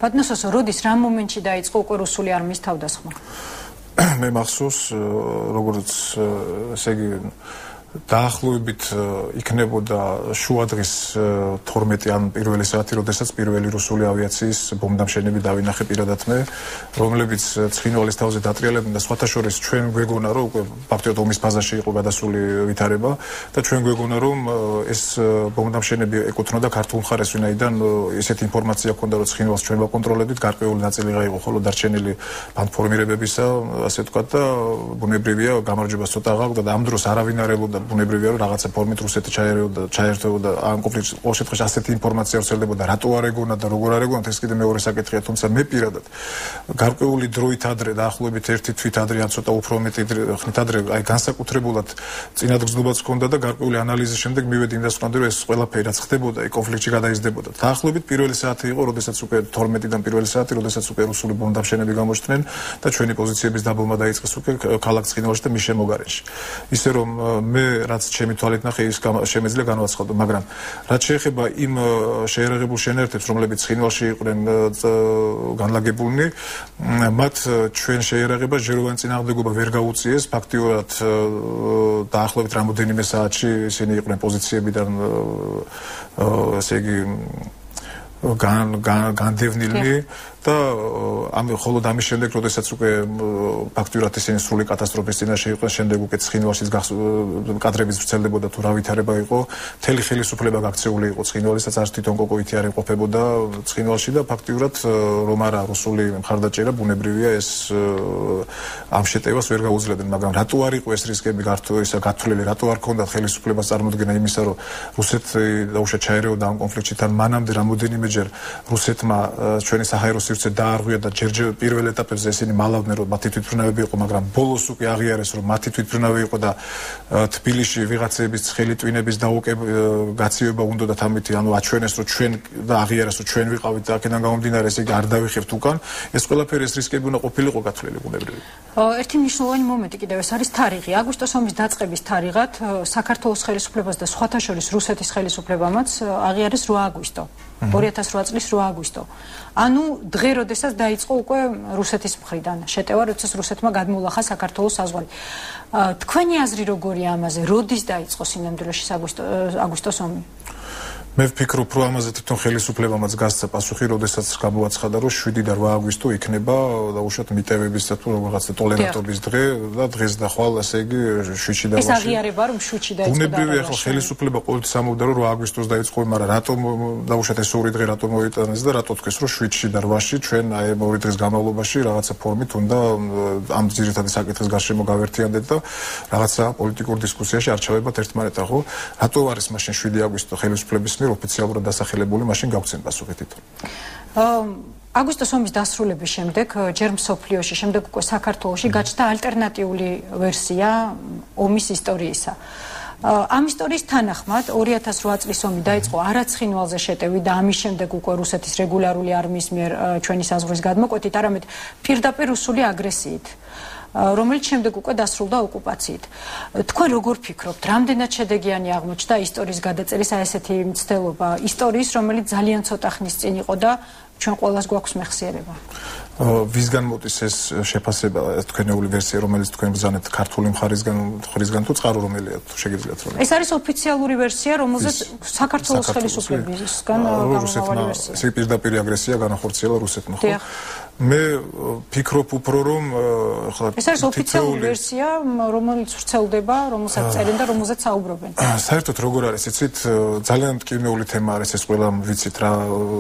S1: ბატონოსო, როდის რა მომენტში დაიწყო უკვე რუსული არმიის თავდასხმა?
S2: მე მახსოვს, როგორც ესე იგი დაახლოებით იქნებოდა შუადღის თორმეტი ან პირველი საათი, როდესაც პირველი რუსული ავიაციის ბომბდამშენები დავინახე პირადად მე, რომლებიც ცხინვალის თავზე დატრიალებდნენ და სხვათა შორის ჩვენ გვეგონა, რომ უკვე ფაქტობრივად ომის ფაზაში იყო გადასული ვითარება და ჩვენ გვეგონა, რომ ეს ბომბდამშენები ეკუთვნოდა ქართულ მხარეს, ვინაიდან ესეთი ინფორმაცია ჰქონდა, რომ ცხინვალს ჩვენ ვაკონტროლებდით, გარკვეული ნაწილი გაიყო ხოლო დარჩენილი ბანდფორმირებებისა, ასე ვთქვათ და ბუნებრივია გამარჯვებას ცოტა აღაქვდა და ამ დროს არავინ არ ელოდა ბუნებრივია რომ რაღაცა ფორმით რუსეთი ჩაერეოდა, ჩაერთვებოდა ამ კონფლიქტში. ყოველ შემთხვევაში ასეთი ინფორმაცია ვრცელდებოდა, რატო არ ეგონა და როგორ არ ეგონა, ეს კიდე მეორე საკითხია, თუმცა მე პირადად გარკვეული დროით ადრე, დაახლოებით ერთი თვით ადრე, ან ცოტა უფრო მეტი ხნით ადრე, აი განსაკუთრებულად წინადგრძნობაც ჰქონდა და გარკვეული ანალიზის შემდეგ მივედი იმას ვთქვი, რომ ეს ყველაფერი რაც ხდებოდა, აი კონფლიქტში გადაიზრდებოდა. დაახლოებით პირველი საათი იყო, როდესაც უკვე თორმეტიდან პირველი საათი, როდესაც უკვე რუსული ბომბდამშენები გამოჩნდნენ და ჩვენი პოზიციების დაბომბვა დაიწყეს უკვე ქალაქ ცხინვალში და მის შემოგარენში. ისე რომ მე რაც ჩემი თვალით ნახე, ის შემეძლია განვაცხადო, მაგრამ რაც შეეხება იმ შეერაღებულ შენერთებს, რომლებიც ცხინვალში იყვნენ განლაგებულნი, მათ ჩვენ შეერაღება ჯეროვანი წინააღმდეგობა ვერ გაუწიეს. ფაქტიურად დაახლოებით რამოდენიმე საათში ისინი იყვნენ პოზიციებიდან, ესე იგი განდევნილნი და ამ ხოლოდ ამის შემდეგ, როდესაც უკვე ფაქტიურად ისინი სრული კატასტროფის წინაშე იყვნენ, შემდეგ უკვე ცხინვალშიც კადრების ვრცელდებოდა თუ რა ვითარება იყო, მთელი ხელისუფლება გაქცეული იყო ცხინვალისაც, არც თვითონ კოკოვითი არ იმყოფებოდა ცხინვალში და ფაქტიურად რომ არა რუსული მხარდაჭერა, ბუნებრივია ეს ამ შეტევას ვერ გაუძლებდნენ, მაგრამ რატო არ იყო ეს რისკები გართვლილი, რატო არ ქონდათ ხელისუფლებას წარმოდგენა იმისა, რომ რუსეთი დაუშვათ ჩაერეოდა ამ კონფლიქტში, თან მანამდე რამოდენიმეჯერ რუსეთმა ჩვენი საჰაერო სივრცე დაარღვია და ჯერჯერ პირველ ეტაპებზე ესენი მალავდნენ, რომ მათი თვითმფრინავები იყო, მაგრამ ბოლოს უკვე აღიარეს, რომ მათი თვითმფრინავი იყო და თბილისში ვიღაცების ცხელი ტვინების გაცივება უნდათ ამით, ანუ აჩვენეს, რომ ჩვენ და აღიარეს, რომ ჩვენ ვიყავით და აქედან გამომდინარე, ესე იგი არ დავიხებთ უკან. ეს ყველაფერი ეს რისკები უნდა ყოფილიყო გათვლილი ბუნებრივია.
S1: ერთი მნიშვნელოვანი მომენტი კიდევ ეს არის თარიღი. აგვისტოს ომის დაწყების თარიღად საქართველოს ხელისუფლებას და სხვათა შორის რუსეთის ხელისუფლებამაც აღიარეს რვა აგვისტო. ორი ათას რვა წლის რვა აგვისტო. ანუ დღე, როდესაც დაიწყო უკვე რუსეთის მხრიდან შეტევა, როდესაც რუსეთმა გადმოულახა საქართველოს საზღვარი. თქვენი აზრი როგორია ამაზე? როდის დაიწყო სინამდვილეში აგვისტოს ომი?
S2: მე ვფიქრობ, რომ ამაზე თვითონ ხელისუფლებამაც გასცა პასუხი, როდესაც გამოაცხადა, რომ შვიდი და რვა აგვისტო იქნება დაუშვათ მიტევების და თუ რაღაცა ტოლერანტობის დღე და დღეს და ხვალ, ასე იგი შვიდში და
S1: ეს აღიარება რომ შვიდში დაიწყო და
S2: ბუნებრივია, ახლა ხელისუფლება ყოველთვის ამბობდა, რომ რვა აგვისტოს დაიწყო, მაგრამ რატომ დაუშვათ ეს ორი დღე რატომ მოიტანეს და რატო თქვეს, რომ შვიდში და რვაში ჩვენ აი ამ ორი დღის განმავლობაში რაღაცა ფორმით უნდა ამ ძირითადი საკითხის გარშემო გავერთიანდეთ და რაღაცა პოლიტიკურ დისკუსიაში არჩევებად ერთმანეთთან, ხო? რატო არის მაშინ შვიდი აგვისტო ხელისუფლების ოფიციალურად დასახელებული, მაშინ გავცენ პასუხი თვითონ.
S1: აგვისტოს ომის დასრულების შემდეგ, ჯერ მსოფლიოში, შემდეგ უკვე საქართველოში გაჩნდა ალტერნატიული ვერსია ომის ისტორიისა. ამ ისტორიის თანახმად ორი ათას რვა წლის ომი დაიწყო არაცხინვალზე შეტევით და ამის შემდეგ უკვე რუსეთის რეგულარული არმიის მიერ ჩვენი საზღვრის გადმოკვეთით, არამედ პირდაპირ რუსული აგრესიით, რომელიც შემდეგ უკვე დასრულდა ოკუპაციით. თქვენ როგორ ფიქრობთ, რამდენად შედეგიანი აღმოჩნდა ისტორიის გადაწერის აი ესეთი მცდელობა, ისტორიის, რომელიც ძალიან ცოტა ხნის წინ იყო და ჩვენ ყველას გვაქვს მეხსიერება?
S2: ვისგან მოდის ეს შეფასება, თქვენეული ვერსია, რომელიც თქვენ ბრძანებთ ქართული მხარისგან, მხარისგან თუ წყარო რომელია, თუ შეგიძლიათ რომ?
S1: ეს არის ოფიციალური ვერსია, რომელზეც საქართველოს ხელისუფლებისგან გამომავალი ვერსია.
S2: ეს პირდაპირ აგრესია განახორციელა რუსეთმა, ხო? მე ფიქრობ უფრო რომ
S1: ხლა ეს არის ოფიციალური ვერსია, რომელიც ვრცელდება, რომელსაც წერენ და რომელზეც საუბრობენ.
S2: საერთოდ როგორ არის, იცით, ძალიან მტკივნეული თემა არის ეს, ყველამ ვიცით რა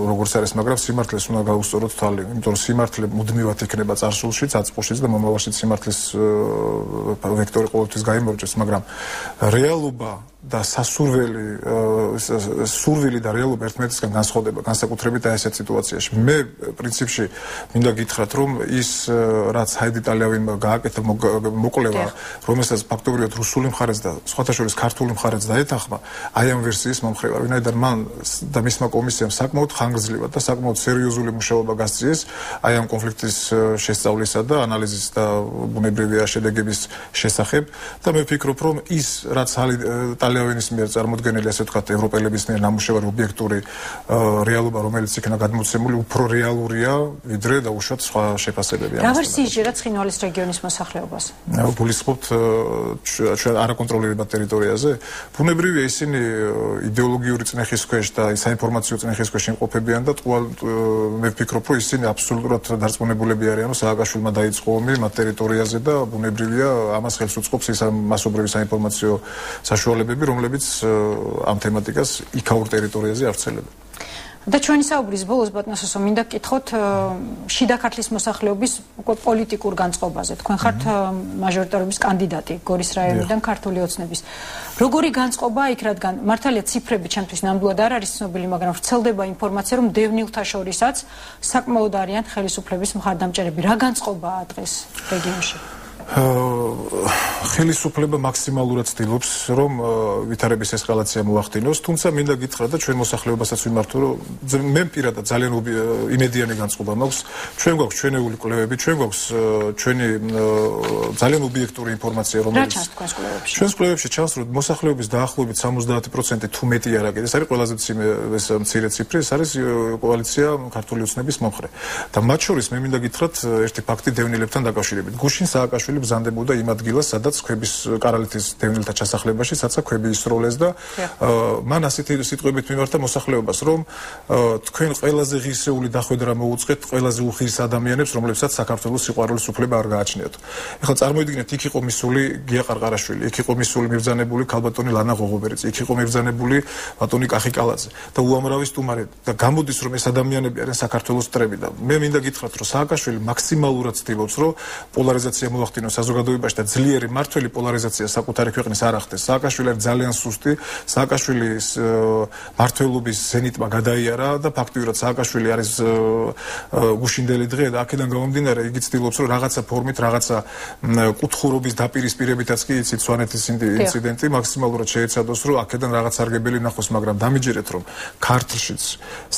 S2: როგორც არის, მაგრამ სიმართლეს უნდა გაუსწოროთ თვალი, იმიტომ რომ სიმართლე მუდმივად იქნება წარსულშიც, აწმყოშიც და მომავალშიც სიმართლის ვექტორი ყოველთვის გაიმარჯვებს, მაგრამ რეალობა და სასურველი სურვილი და რეალობა ერთმანეთისგან განსხვავდება განსაკუთრებით აი ესეთ სიტუაციაში. მე პრინციპში მინდა გითხრათ, რომ ის რაც ჰაიდი ტალიავინმა გააკეთა მოკვლევა, რომელსაც ფაქტობრივად რუსული მხარეც და სხვათა შორის ქართული მხარეც დაეთანხმა, აი ამ ვერსიის მომხრევა, ვინაიდან მან და მისმა კომისიამ საკმაოდ ხანგრძლივად და საკმაოდ სერიოზული მუშაობა გასწიეს აი ამ კონფლიქტის შესწავლისა და ანალიზის და ბუნებრივია შედეგების შესახებ და მე ვფიქრობ, რომ ის რაც ტალიავინის მიერ წარმოდგენილი, ასე ვთქვათ, ევროპელების მიერ ნამუშევარი ობიექტური რეალობა, რომელიც იქნა გადმოცემული, უფრო რეალურია, ვიდრე დაუშვათ სხვა შეფასებები.
S1: რა ვერსია ჟერა ცხინვალის რეგიონის მოსახლეობას?
S2: გულისხმობთ ჩვენ არაკონტროლირებად ტერიტორიაზე. ბუნებრივია, ისინი იდეოლოგიური წნეხის ქვეშ და საინფორმაციო წნეხის ქვეშ იმყოფებიან და ყოველ მე ვფიქრობ, რომ ისინი აბსოლუტურად დარწმუნებულები არიან, რომ სააკაშვილმა დაიწყო ომი მათ ტერიტორიაზე და ბუნებრივია, ამას ხელს უწყობს ის მასობრივი საინფორმაციო საშუალებები, რომლებიც ამ თემატიკას იქაურ ტერიტორიაზე ავრცელებენ.
S1: და ჩვენი საუბრის ბოლოს ბატონოსო მინდა გკითხოთ შიდა ქართლის მოსახლეობის უკვე პოლიტიკურ განწყობაზე. თქვენ ხართ მაჟორიტარობის კანდიდატი გორის რაიონიდან ქართული ოცნების. როგორი განწყობაა იქ, რადგან მართალია ციფრები ჩემთვის ნამდვილად არ არის ცნობილი, მაგრამ ვრცელდება ინფორმაცია, რომ დევნილთა შორისაც საკმაოდ არიან ხელისუფლების მხარდამჭერები. რა განწყობაა დღეს რეგიონში?
S2: ხელისუფლება მაქსიმალურად ცდილობს, რომ ვითარების ესკალაცია მოახდინოს, თუმცა მინდა გითხრათ და ჩვენ მოსახლეობასაც ვიმართო, რომ მე პირადად ძალიან იმედიანი განწყობა მაქვს. ჩვენ გვაქვს ჩვენეული კვლევები, ჩვენ გვაქვს ჩვენი ძალიან ობიექტური ინფორმაცია, რომელიც
S1: რა ჩანს თქვენს კვლევებში?
S2: ჩვენს კვლევებში ჩანს, რომ მოსახლეობის დაახლოებით სამოცდაათი პროცენტი თუ მეტი არა კიდე, ეს არის ყველაზე მცირე ციფრი, ეს არის კოალიცია ქართული ოცნების მომხრე. და მათ შორის მე მინდა გითხრათ ერთი ფაქტი დევნილებთან დაკავშირებით. გუშინ სააკაშვილი ბრძანდებოდა იმ ადგილას, სადაც ქვების კარალეთის დევნილთა ჩასახლებაში, სადაც ქვები ისროლეს და მან ასეთი სიტყვებით მიმართა მოსახლეობას, რომ თქვენ ყველაზე ღირსეული დახვედრა მოუწყეთ ყველაზე უხირს ადამიანებს, რომლებსაც საქართველოს სიყვარულის უფლება არ გააჩნიათ. ეხლა წარმოიდგინეთ, იქ იყო მისული გია ყარყარაშვილი, იქ იყო მისული მიბრძანებული ქალბატონი ლანა ღოღობერიც, იქ იყო მიბრძანებული ბატონი კახი კალაძე და უამრავი სტუმარი და გამოდის, რომ ეს ადამიანები არიან საქართველოს მტრები და მე მინდა გითხრათ, რომ სააკაშვილი მაქსიმალურად ცდილობს, რომ პოლარიზაცია მოახდინოს საზოგადოებაში და ძლიერი მართველი პოლარიზაცია საკუთარი ქვეყნის არ ახდენს. სააკაშვილი არის ძალიან სუსტი, სააკაშვილის მართველობის ზენიტმა გადაიარა და ფაქტიურად სააკაშვილი არის გუშინდელი დღე და აქედან გამომდინარე იგი ცდილობს, რომ რაღაცა ფორმით, რაღაცა კუთხურობის დაპირისპირებითაც კი იცით სვანეთის ინციდენტი მაქსიმალურად შეეცადოს, რომ აქედან რაღაც არგებელი ნახოს, მაგრამ დამიჯერეთ, რომ ქართლშიც,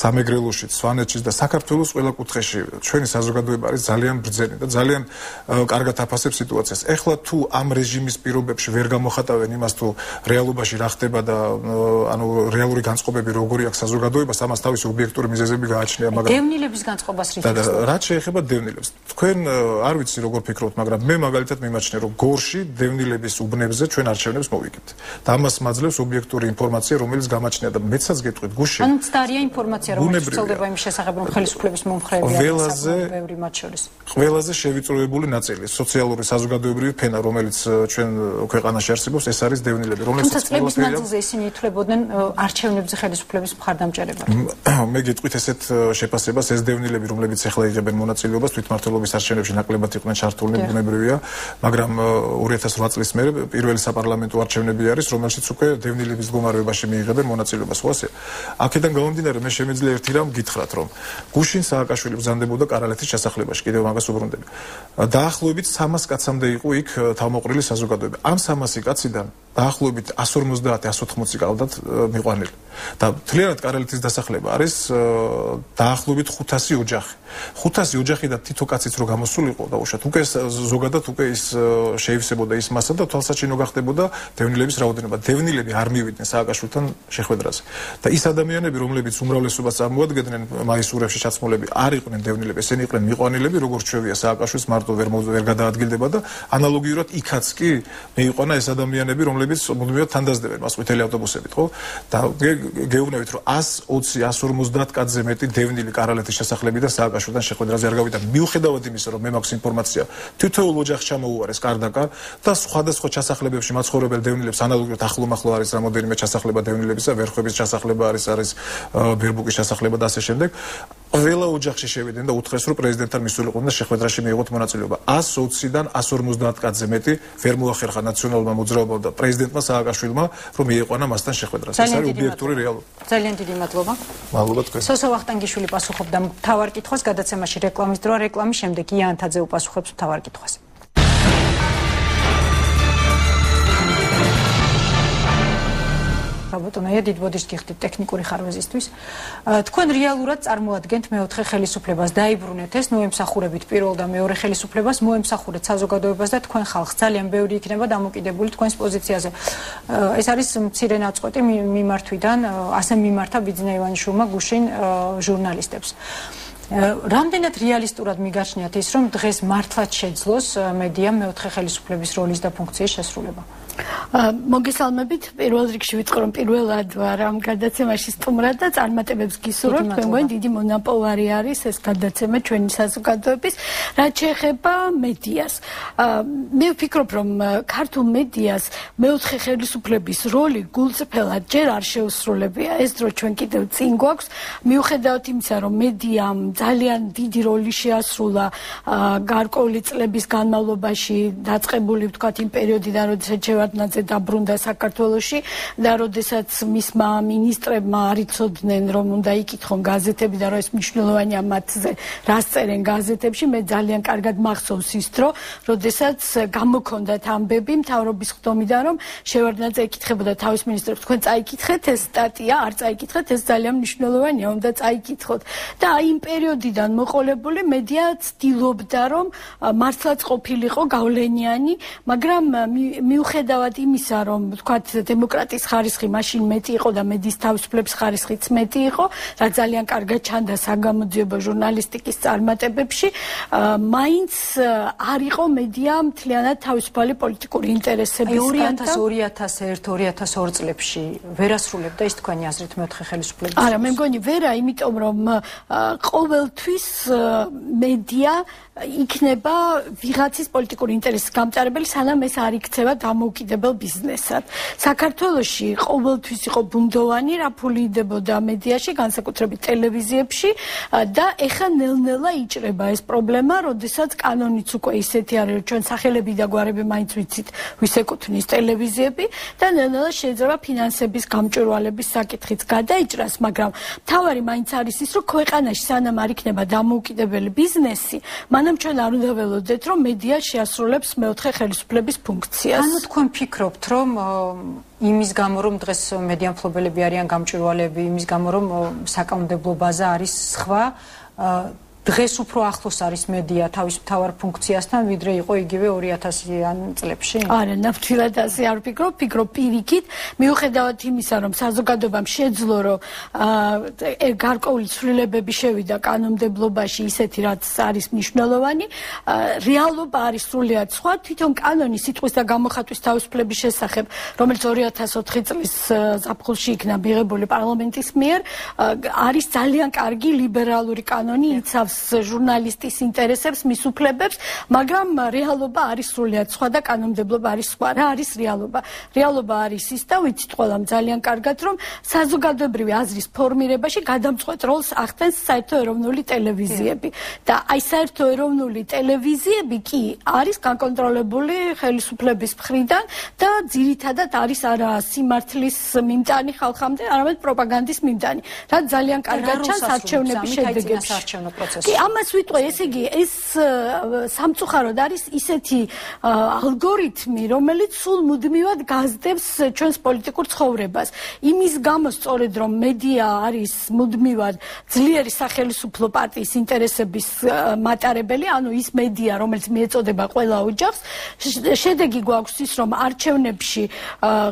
S2: სამეგრელოშიც, სვანეთშიც და საქართველოს ყველა კუთხეში ჩვენი საზოგადოება არის ძალიან ბრძენი და ძალიან კარგად აფასებს აკონტროლებს სიტუაციას. ეხლა თუ ამ რეჟიმის პირობებში ვერ გამოხატავენ იმას თუ რეალობაში რა ხდება და ანუ რეალური განწყობები როგორი აქვს საზოგადოებას, ამას თავისი ობიექტური მიზეზები გააჩნია, მაგრამ
S1: დევნილების განწყობას რითი
S2: და რაც შეეხება დევნილებს. თქვენ არ ვიცი როგორ ფიქრობთ, მაგრამ მე მაგალითად მიმაჩნია, რომ გორში დევნილების უბნებზე ჩვენ არჩევნებს მოვიგებთ. და ამას მაძლევს ობიექტური ინფორმაცია, რომელიც გამაჩნია და მეცაც გეტყვით, გუშინ
S1: ანუ მცდარია ინფორმაცია, რომელიც ვრცელდება იმის შესახებ, რომ ხელისუფლების მომხრეებია ბევრი მათ შორის.
S2: ყველაზე შევიწროებული ნაწილი, სოციალური საზოგადოებრივი ფენა, რომელიც ჩვენ ქვეყანაში არსებობს, ეს არის დევნილები,
S1: რომლებიც წლების მანძილზე ისინი ითვლებოდნენ არჩევნებზე ხელისუფლების მხარდამჭერებად.
S2: მე გეტყვით ესეთ შეფასებას, ეს დევნილები, რომლებიც ახლა იღებენ მონაწილეობას თვითმმართველობის არჩევნებში ნაკლებად იყვნენ ჩართულნი, ბუნებრივია, მაგრამ ორი ათას ოთხ წლის მერე პირველი საპარლამენტო არჩევნები არის, რომელშიც უკვე დევნილების მდგომარეობაში მიიღებენ მონაწილეობას. ხო ასე? აქედან გამომდინარე, მე შემიძლია ერთი რამ გითხრათ, რომ გუშინ სააკაშვილი ბრძანდებოდა კარალეთის ჩასახლებაში, კიდევ მაგას უბრუნდები. დაახლოებით სამას კაცამდე იყო იქ თავმოყრილი საზოგადოება. ამ სამასი კაციდან დაახლოებით εκατს ორმოცდაათი εκατს ოთხმოცი ყავდათ მიყვანილი. და მთლიანად კარალეთის დასახლება არის დაახლოებით ხუთასი ოჯახი. ხუთასი ოჯახი და თითო კაციც რო გამოსულიყო დაუშვათ, უკვე ზოგადად უკვე ის შეივსებოდა ის მასა და თვალსაჩინო გახდებოდა დევნილების რაოდენობა. დევნილები არ მივიდნენ სააკაშვილთან შეხვედრაზე. და ის ადამიანები, რომლებიც უმრავლესობას წარმოადგენდნენ მაისურებში ჩაცმულები, არ იყვნენ დევნილები, ესენი იყვნენ მიყვანილები, როგორც ჩვევია სააკაშვილს მარტო ვერ ვერ გადაადგილდება და ანალოგიურად იქაც კი მეიყვანა ეს ადამიანები, რომლებიც მუდმივად თანდაზდებენ მას ყვითელი ავტობუსებით, ხო? და გეუბნებით, რომ εκατს ოცი εκατს ორმოცდაათ კაცზე მეტი დევნილი კარალეთის შესახლებიდან სააკაშვილთან შეხვედრაზე არ გავიდა. მიუხედავად იმისა, რომ მე მაქვს ინფორმაცია, თითოეულ ოჯახს ჩამოუარეს კარდაკარ და სხვადასხვა ჩასახლებებში მაცხოვრებელ დევნილებს ანალოგიურად ახლომახლო არის რამოდენიმე ჩასახლება დევნილებისა, ვერხვების ჩასახლება არის, არის ბერბუკის ჩასახლება და ასე შემდეგ. ყველა ოჯახში შევიდნენ და უთხრეს, რომ პრეზიდენტთან მისულიყვნენ და შეხვედრაში მიიღოთ მონაწილეობა. εκατს ოციდან εκατს ორმოცდაათ კაცზე მეტი ვერ მოახერხა ნაციონალურმა მოძრაობამ და პრეზიდენტმა სააკაშვილმა, რომ მიეყვანა მასთან შეხვედრას. ეს არის ობიექტური რეალობა.
S1: ძალიან დიდი მადლობა.
S2: მადლობა თქვენ.
S1: სოსო ვახტანგიშვილი პასუხობდა მთავარ კითხვას, გადაცემაში რეკლამის დრო, რეკლამის შემდეგ იან თაძე უპასუხებს მთავარ კითხვას. ბატონია, დიდ ბოდიშს გიხდით ტექნიკური ხარვეზისთვის. თქვენ რეალურად წარმოადგენთ მეოთხე ხელისუფლებას, დაიბრუნეთ ეს, ნუ ემსახურებით პირველ და მეორე ხელისუფლებას, მოემსახურეთ საზოგადოებას და თქვენ ხალხს. ძალიან ბევრი იქნება დამოკიდებული თქვენს პოზიციაზე. ეს არის მცირე ნაწყვეტი მიმართვიდან, ასე მიმართა ბიძინა ივანიშვილმა გუშინ ჟურნალისტებს. რამდენად რეალისტურად მიგაჩნიათ ის, რომ დღეს მართლაც შეძლოს მედიამ მეოთხე ხელისუფლების როლის და ფუნქციის შესრულება?
S7: მოგესალმებით, პირველ რიგში ვიტყვი, რომ პირველად ვარ ამ გადაცემაში სტუმრად და წარმატებებს გისურვებთ. მე მგონი დიდი მონოპოლარი არის ეს გადაცემა ჩვენი საზოგადოების, რაც შეეხება მედიას. მე ვფიქრობ, რომ ქართულ მედიას მეოთხე ხელისუფლების როლი გულწრფელად ჯერ არ შეუსრულებია. ეს დრო ჩვენ კიდევ წინ გვაქვს, მიუხედავად იმისა, რომ მედიამ ძალიან დიდი როლი შეასრულა გარკვეული წლების განმავლობაში დაწყებული ვთქვათ იმ პერიოდიდან, როდესაც შევარდნაძე დაბრუნდა საქართველოში და როდესაც მისმა მინისტრებმა არ იცოდნენ, რომ უნდა იკითხონ გაზეთები და რომ ეს მნიშვნელოვანია მათზე რას წერენ გაზეთებში. მე ძალიან კარგად მახსოვს ის დრო, როდესაც გამოქონდათ ამბები მთავრობის ხდომიდან, რომ შევარდნაძე ეკითხებოდა თავის მინისტრებს, თქვენ წაიკითხეთ ეს სტატია, არ წაიკითხეთ, ეს ძალიან მნიშვნელოვანია, უნდა წაიკითხოთ. და აი იმ პერიოდიდან მოყოლებული მედია ცდილობდა, რომ მართლაც ყოფილიყო გავლენიანი, მაგრამ მიუხედავად იმისა, რომ ვთქვათ დემოკრატიის ხარისხი მაშინ მეტი იყო და მედიის თავისუფლების ხარისხიც მეტი იყო, რაც ძალიან კარგად ჩანდა საგამოძიებო ჟურნალისტიკის წარმატებებში, მაინც არ იყო მედია მთლიანად თავისუფალი პოლიტიკური ინტერესების
S1: ორი ათას ორი ათას ერთ ორი ათას ორი წლებში ვერასრულებდა ის თქვენი აზრით მეოთხე ხელისუფლების?
S7: არა, მე მგონი ვერა, იმიტომ რომ ყოველთვის მედია იქნება ვიღაცის პოლიტიკური ინტერესის გამტარებელი, სანამ ეს არ იქცევა დამოუკიდებელ ბიზნესად. საქართველოში ყოველთვის იყო ბუნდოვანი, რა ფული იდებოდა მედიაში, განსაკუთრებით ტელევიზიებში და ეხა ნელ-ნელა იჭრება ეს პრობლემა, როდესაც კანონიც უკვე ისეთი არის, რომ ჩვენ სახელები და გვარები მაინც ვიცით, ვის ეკუთვნის ტელევიზიები და ნელ-ნელა შეიძლება ფინანსების გამჭვირვალების საკითხიც გადაიჭრას, მაგრამ მთავარი მაინც არის ის, რომ ქვეყანაში სანამ არ იქნება დამოუკიდებელი ბიზნესი, მანამ ჩვენ არ უნდა ველოდეთ, რომ მედია შეასრულებს მეოთხე ხელისუფლების ფუნქციას.
S1: ანუ თქვენ ფიქრობთ, რომ იმის გამო, რომ დღეს მედია მფლობელები არიან გამჭვირვალეები, იმის გამო, რომ საკანონმდებლო ბაზა არის სხვა, დღეს უფრო ახლოს არის მედია თავის მთავარ ფუნქციასთან, ვიდრე იყო იგივე ორი ათასიან წლებში?
S7: არა, ნამდვილად ასე არ ვფიქრობ, ვფიქრობ პირიქით, მიუხედავად იმისა, რომ საზოგადოებამ შეძლო, რომ გარკვეული ცვლილებები შევიდა კანონმდებლობაში, ისეთი რაც არის მნიშვნელოვანი, რეალობა არის სრულიად სხვა. თვითონ კანონი სიტყვის და გამოხატვის თავისუფლების შესახებ, რომელიც ორი ათას ოთხი წლის ზაფხულში იქნა მიღებული პარლამენტის მიერ, არის ძალიან კარგი ლიბერალური კანონი, იცავს ჟურნალისტის ინტერესებს, მის უფლებებს, მაგრამ რეალობა არის სრულიად სხვა და კანონმდებლობა არის სხვა. რა არის რეალობა? რეალობა არის ის და ვიცით ყველამ ძალიან კარგად, რომ საზოგადოებრივი აზრის ფორმირებაში გადამწყვეტ როლს ახდენს საერთო ეროვნული ტელევიზიები. და აი საერთო ეროვნული ტელევიზიები კი არის გაკონტროლებული ხელისუფლების მხრიდან და ძირითადად არის არა სიმართლის მიმტანი ხალხამდე, არამედ პროპაგანდის მიმტანი. რაც ძალიან კარგად ჩანს არჩევნების შედეგებში. კი, ამას ვიტყვი, ესე იგი, ეს სამწუხაროდ არის ისეთი ალგორითმი, რომელიც სულ მუდმივად გაზდებს ჩვენს პოლიტიკურ ცხოვრებას. იმის გამო სწორედ რომ მედია არის მუდმივად ძლიერი სახელისუფლო პარტიის ინტერესების მატარებელი, ანუ ის მედია, რომელიც მიეწოდება ყველა ოჯახს, შედეგი გვაქვს ის, რომ არჩევნებში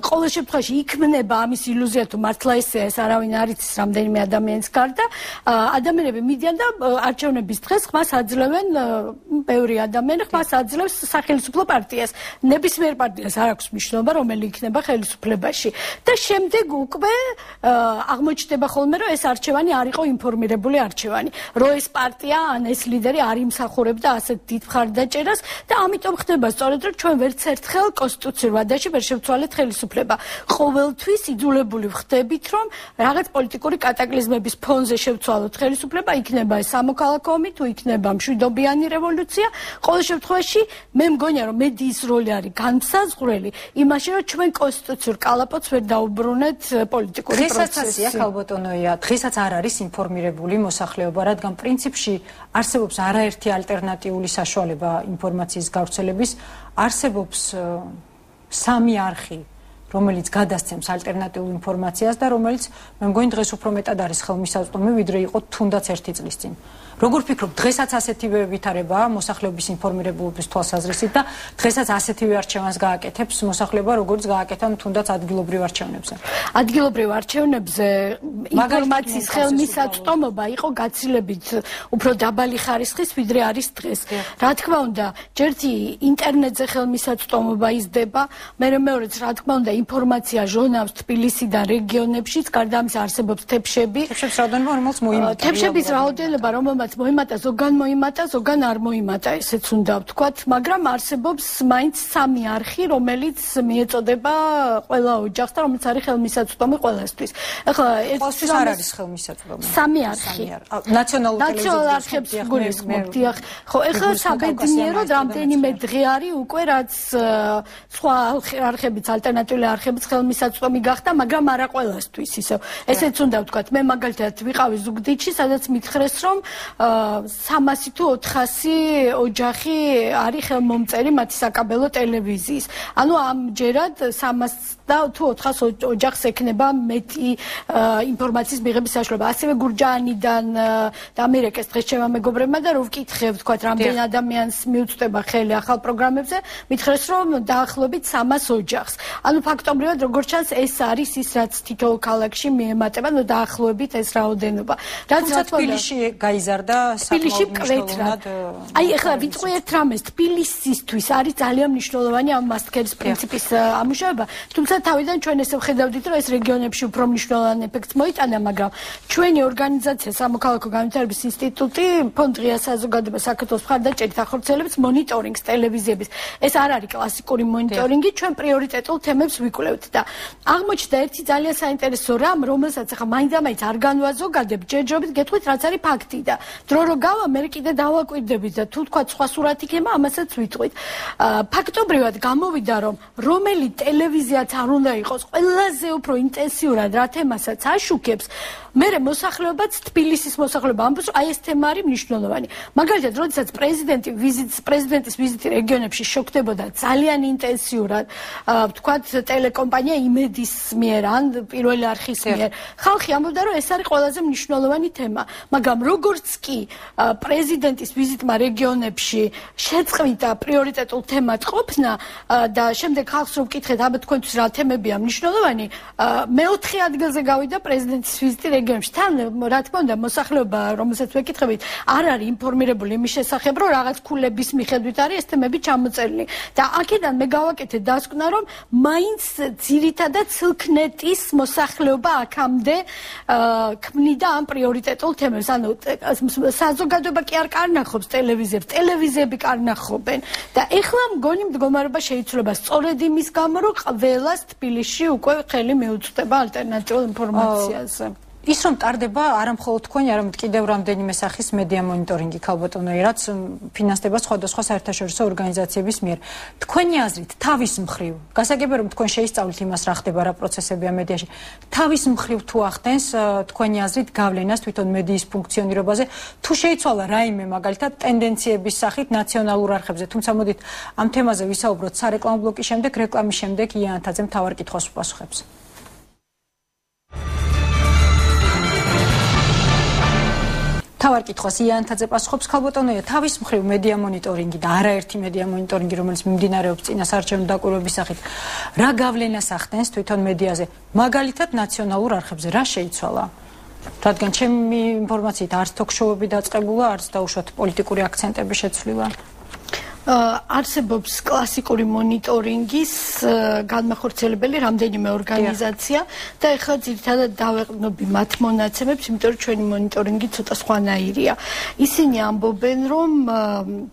S7: ყოველ შემთხვევაში იქმნება ამის ილუზია, თუ მართლა ესეა, ეს არავინ არ იცის რამდენიმე ადამიანის გარდა, ადამიანები მიდიან და არჩევნების დღეს ხმას აძლევენ, ბევრი ადამიანი ხმას აძლევს სახელისუფლო პარტიას. ნებისმიერ პარტიას არ აქვს მნიშვნელობა, რომელი იქნება ხელისუფლებაში. და შემდეგ უკვე აღმოჩნდება ხოლმე, რომ ეს არჩევანი არ იყო ინფორმირებული არჩევანი. რომ ეს პარტია ან ეს ლიდერი არ იმსახურებდა ასეთ დიდ მხარდაჭერას და ამიტომ ხდება სწორედ, რომ ჩვენ ვერც ერთხელ კონსტიტუციურ ვადაში ვერ შევცვალეთ ხელისუფლება. ყოველთვის იძულებული ვხდებით, რომ რაღაც პოლიტიკური კატაკლიზმების ფონზე შევცვალოთ ხელისუფლება, იქნება ეს სამოქალაქო ომი, თუ იქნება მშვიდობიანი რევოლუცია. ყოველ შემთხვევაში მე მგონია, რომ მედიის როლი არის განმსაზღვრელი იმაში, რომ ჩვენ კონსტიტუციურ კალაპოტს ვერ დაუბრუნეთ პოლიტიკური პროცესში.
S1: დღესაც ასია, ქალბატონოია, დღესაც არ არის ინფორმირებული მოსახლეობა, რადგან პრინციპში არსებობს არაერთი ალტერნატიული საშუალება ინფორმაციის გავრცელების, არსებობს სამი არხი, რომელიც გადასცემს ალტერნატიულ ინფორმაციას და რომელიც მე მგონი დღეს უფრო მეტად არის ხელმისაწვდომი, ვიდრე იყო თუნდაც ერთი წლის წინ. როგორ ფიქრობ, დღესაც ასეთივე ვითარებაა მოსახლეობის ინფორმირებულობის თვალსაზრისით და დღესაც ასეთივე არჩევანს გააკეთებს მოსახლეობა, როგორც გააკეთა თუნდაც ადგილობრივ არჩევნებზე?
S7: ადგილობრივ არჩევნებზე ინფორმაციის ხელმისაწვდომობა იყო გაცილებით უფრო დაბალი ხარისხის, ვიდრე არის დღეს. რა თქმა უნდა, ჯერთი ინტერნეტზე ხელმისაწვდომობა იზრდება, მერე მეორეც რა თქმა უნდა ინფორმაცია ჟონავს თბილისიდან რეგიონებშიც, გარდა ამისა არსებობს თებშები.
S1: თებშების რაოდენობა, რომელსაც მოიმატა.
S7: თებშების რაოდენობა, რომელმაც მოიმატა, ზოგან მოიმატა, ზოგან არ მოიმატა, ესეც უნდა ვთქვათ, მაგრამ არსებობს მაინც სამი არხი, რომელიც მიეწოდება ყველა ოჯახს და რომელიც არის ხელმისაწვდომი ყველასთვის. ეხლა
S1: ერთთვის არ არის ხელმისაწვდომი.
S7: სამი არხი.
S1: ნაციონალურ
S7: ტელევიზიას გულისხმობთ, დიახ. ხო, ეხლა საბედნიეროდ რამდენიმე დღე არის უკვე რაც სხვა არხებიც ალტერნატიული არხებიც ხელმისაწვდომი გახდა, მაგრამ არა ყველასთვის ისევ. ესეც უნდა ვთქვათ, მე მაგალითად ვიყავი ზუგდიდში, სადაც მითხრეს, რომ სამასი თუ ოთხასი ოჯახი არის ხელმომწერი მათი საკაბელო ტელევიზიის. ანუ ამჯერად სამას და თუ ოთხას ოჯახს ექნება მეტი ინფორმაციის მიღების საშუალება. ასევე გურჯაანიდან და ამერიკის დღეს ჩემმა მეგობრებმა და რო ვკითხე, ვთქვათ, რამდენი ადამიანს მიუწვდება ხელი ახალ პროგრამებზე, მითხრეს, რომ დაახლოებით სამას ოჯახს. ანუ ფაქტობრივად როგორც ჩანს, ეს არის ის, რაც თითოეულ ქალაქში მიემატება, ნუ დაახლოებით ეს რაოდენობა. რაც რა თქმა უნდა
S1: გაიზარდა
S7: თბილისში მკვეთრად. აი ეხლა ვიტყვი ერთ რამეს, თბილისისთვის არის ძალიან მნიშვნელოვანი ამ მასტკერის პრინციპის ამუშავება, თუმცა თავიდან ჩვენ ესე ვხედავდით, რომ ეს რეგიონებში უფრო მნიშვნელოვანი ეფექტს მოიტანა, მაგრამ ჩვენი ორგანიზაცია სამოქალაქო განვითარების ინსტიტუტი ფონდ ღია საზოგადოება საქართველოს მხარდაჭერით ახორციელებს მონიტორინგს ტელევიზიების. ეს არ არის კლასიკური მონიტორინგი, ჩვენ პრიორიტეტულ თემებს ვიკვლევთ და აღმოჩნდა ერთი ძალიან საინტერესო რამ, რომელსაც ახლა მაინდამაინც არ განვაზოგადებ, ჯერჯერობით გეტყვით, რაც არის ფაქტი და დრო რო გავა, მე კიდე დავაკვირდებით და თუ თქვა სხვა სურათი ქემა, ამასაც ვიტყვით. ფაქტობრივად გამოვიდა, რომ რომელი ტელევიზიაც არ უნდა იყოს ყველაზე უფრო ინტენსიურად რა თემასაც აშუქებს, მერე მოსახლეობაც თბილისის მოსახლეობა ამბობს, აი ეს თემა არის მნიშვნელოვანი. მაგალითად, როდესაც პრეზიდენტი ვიზიტს, პრეზიდენტის ვიზიტი რეგიონებში შოქდებოდა ძალიან ინტენსიურად, ვთქვათ, ტელეკომპანია იმედის მიერ ან პირველი არხის მიერ, ხალხი ამბობდა, რომ ეს არის ყველაზე მნიშვნელოვანი თემა, მაგრამ როგორც კი პრეზიდენტის ვიზიტმა რეგიონებში შეწყვიტა პრიორიტეტულ თემად ყოფნა და შემდეგ ხალხს რომ ვკითხეთ, აბა თქვენთვის რა თემებია მნიშვნელოვანი, მეოთხე ადგილზე გავიდა პრეზიდენტის ვიზიტი რეგიონებში. თან რა თქმა უნდა, მოსახლეობა, რომელსაც ვეკითხებით, არ არის ინფორმირებული იმის შესახებ, რომ რაღაც ქულების მიხედვით არის ეს თემები ჩამოწერილი. და აქედან მე გავაკეთე დასკვნა, რომ მაინც ძირითადად ცილქნეტის მოსახლეობა აქამდე ქმნიდა ამ პრიორიტეტულ თემებს. ანუ საზოგადოება კი არ კარნახობს ტელევიზიებს, ტელევიზიები კარნახობენ და ეხლა მგონი მდგომარეობა შეიცვლება სწორედ იმის გამო, რომ ყველას თბილისში უკვე ხელი მიუწვდება ალტერნატიულ ინფორმაციაზე.
S1: ის რომ ტარდება არა მხოლოდ თქვენი, არამედ კიდევ რამდენიმე სახის მედია მონიტორინგი ქალბატონო, რაც ფინანსდება სხვადასხვა საერთაშორისო ორგანიზაციების მიერ. თქვენი აზრით, თავის მხრივ, გასაგებია რომ თქვენ შეისწავლით იმას, რა ხდება, რა პროცესებია მედიაში. თავის მხრივ თუ ახდენს თქვენი აზრით გავლენას თვითონ მედიის ფუნქციონირებაზე, თუ შეიცვალა რაიმე მაგალითად ტენდენციების სახით ნაციონალურ არხებზე. თუმცა მოდით ამ თემაზე ვისაუბროთ სარეკლამო ბლოკის შემდეგ, რეკლამის შემდეგ იანთაძე მთავარ კითხვას უპასუხებს. თავარ კითხვას იანთაძე პასუხობს. ქალბატონოია, თავის მხრივ მედია მონიტორინგი და არაერთი მედია მონიტორინგი, რომელიც მიმდინარეობს წინასაარჩევნო დაკვირვების სახით, რა გავლენას ახდენს თვითონ მედიაზე, მაგალითად ნაციონალურ არხებზე, რა შეიცვალა? რადგან ჩემი ინფორმაციით არც თოქ-შოუები დაწყებულა, არც დაუშვათ პოლიტიკური აქცენტების შეცვლილა.
S7: არსებობს კლასიკური მონიტორინგის განმახორციელებელი რამდენიმე ორგანიზაცია და ეხლა ძირითადად დავეყნობი მათ მონაცემებს, იმიტომ რომ ჩვენი მონიტორინგი ცოტა სხვანაირია. ისინი ამბობენ, რომ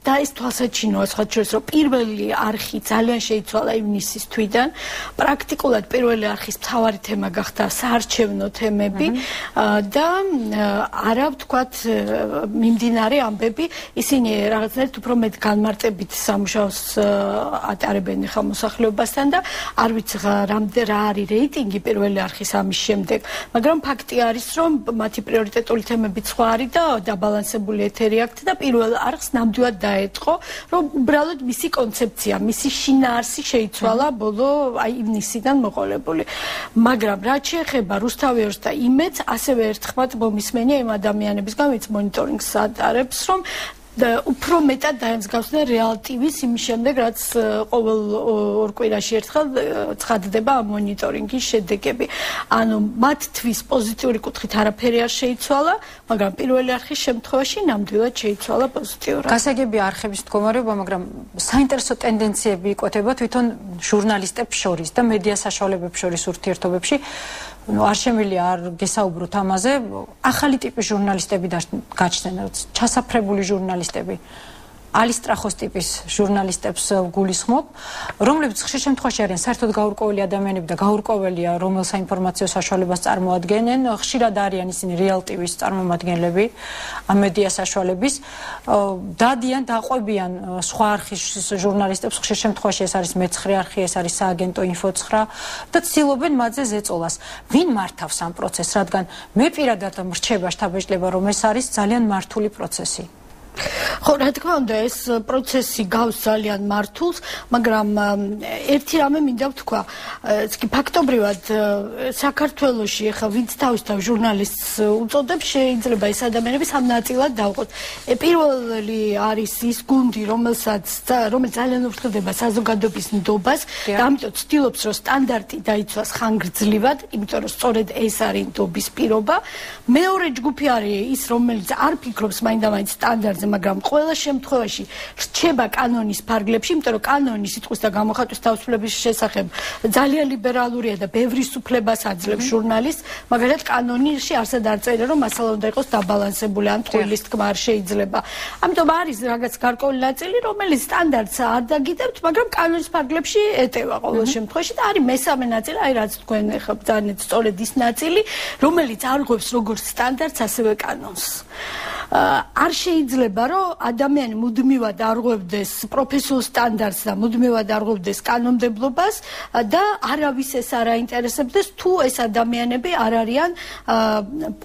S7: და ეს თვალსაჩინოა სხვა შორის, რომ პირველი არხი ძალიან შეიცვალა ივნისის თვიდან. პრაქტიკულად პირველი არხის მთავარი თემა გახდა საარჩევნო თემები და არა ვთქვათ მიმდინარე ამბები, ისინი რაღაცნაირად უფრო მეტ განმარტებით სამუშაოს ატარებენ ხა მოსახლეობასთან და არ ვიცი რამდენ რა არის რეიტინგი პირველი არხის ამის შემდეგ, მაგრამ ფაქტი არის, რომ მათი პრიორიტეტული თემები სხვა არის და დაბალანსებული ეთერი აქვთ და პირველ არხს ნამდვილად დაეწყო, რომ უბრალოდ მისი კონცეფცია, მისი შინაარსი შეიცვალა ბოლო აი ივნისიდან მოყოლებული. მაგრამ რაც შეეხება რუსთავიორს და იმედს, ასევე ერთხმად მომისმენია იმ ადამიანებისგან, ვინც მონიტორინგს ატარებს, რომ და უფრო მეტად დაემსგავსდნენ რეალ ტივის იმის შემდეგ, რაც ყოველ ორ კვირაში ერთხელ ცხადდება ამ მონიტორინგის შედეგები. ანუ მათთვის პოზიტიური კუთხით არაფერი არ შეიცვალა, მაგრამ პირველი არხის შემთხვევაში ნამდვილად შეიცვალა პოზიტიურად.
S1: გასაგებია არხების მდგომარეობა, მაგრამ საინტერესო ტენდენციები იკვეთება თვითონ ჟურნალისტებს შორის და მედია საშუალებებს შორის ურთიერთობებში. ну არ შემიძლია არ გესაუბროთ ამაზე, ახალი ტიპის ჟურნალისტები გაჩნდნენ, ჩასაფრებული ჟურნალისტები. ალისტრახოს ტიპის ჟურნალისტებს გულისხმობ, რომლებიც ხშირ შემთხვევაში არიან საერთოდ გაურკვეველი ადამიანები და გაურკვეველია რომელ საინფორმაციო საშუალებას წარმოადგენენ, ხშირად არიან ისინი რეალ ტივის წარმომადგენლები, მედია საშუალების, დადიან, დაყვებიან სხვა არხის ჟურნალისტებს, ხშირ შემთხვევაში ეს არის მეცხრე არხი, ეს არის სააგენტო ინფო ცხრა და ცდილობენ მათზე ზეწოლას. ვინ მართავს ამ პროცესს, რადგან მე პირადად მრჩება შთაბეჭდილება, რომ ეს არის ძალიან მართული პროცესი.
S7: ხო, რა თქმა უნდა, ეს პროცესი გავს ძალიან მართულს, მაგრამ ერთი რამე მინდა ვთქვა, კი ფაქტობრივად საქართველოში ახლა ვინც თავისთავ ჟურნალისტს უწოდებს, შეიძლება ეს ადამიანები სამ ნაწილად დავყოთ. პირველი არის ის გუნდი, რომელსაც რომელიც ძალიან ურთულდება საზოგადოების ნდობას და ამიტომ ცდილობს, რომ სტანდარტი დაიცვას ხანგრძლივად, იმიტომ რომ სწორედ ეს არის ნდობის პირობა. მეორე ჯგუფი არის ის, რომელიც არ ფიქრობს მაინდა-მაინც სტანდარტზე, მაგრამ ყველა შემთხვევაში რჩება კანონის ფარგლებში, იმიტომ რომ კანონი სიტყვის და გამოხატვის თავისუფლების შესახებ ძალიან ლიბერალურია და ბევრი სუფლებას აძლევს ჟურნალისტს, მაგალითად კანონში არსად არ წერია, რომ მასალა უნდა იყოს დაბალანსებული, ან ტყუილის თქმა არ შეიძლება. ამიტომ არის რაღაც გარკვეული ნაწილი, რომელიც სტანდარტს არ დაგიდებთ, მაგრამ კანონის ფარგლებში ეტევა ყოველ შემთხვევაში და არის მესამე ნაწილი, აი რაც თქვენ ახლა ძალიან სწორედ ის ნაწილი, რომელიც არღვევს როგორც სტანდარტს, ასევე კანონს. არ შეიძლება რომ ადამიანი მუდმივად არღვევდეს პროფესიულ სტანდარტს და მუდმივად არღვევდეს კანონმდებლობას და არავის ეს არ აინტერესებდეს თუ ეს ადამიანები არ არიან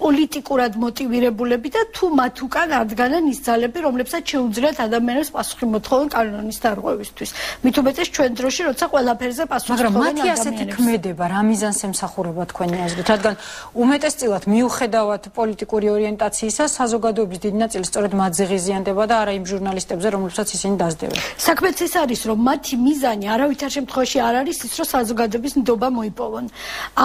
S7: პოლიტიკურად მოტივირებულები და თუ მათ უკან არ დგანან ის ძალები, რომლებსაც შეუძლიათ ადამიანებს პასუხი მოთხოვონ კანონის დარღვევისთვის. მით უმეტეს ჩვენ დროში, როცა ყველაფერზე პასუხი
S1: მაგრამ მათი ასეთი ქმედება რა მიზანს ემსახურება თქვენი აზრით, რადგან უმეტესწილად მიუხედავად პოლიტიკური ორიენტაციისა საზოგადოების გადაცემების დიდი ნაწილი სწორედ მათზე ღიზიანდება და არა იმ ჟურნალისტებზე, რომლებსაც ისინი დასდევენ.
S7: საქმეც ეს არის, რომ მათი მიზანი არავითარ შემთხვევაში არ არის ის, რომ საზოგადოების ნდობა მოიპოვონ.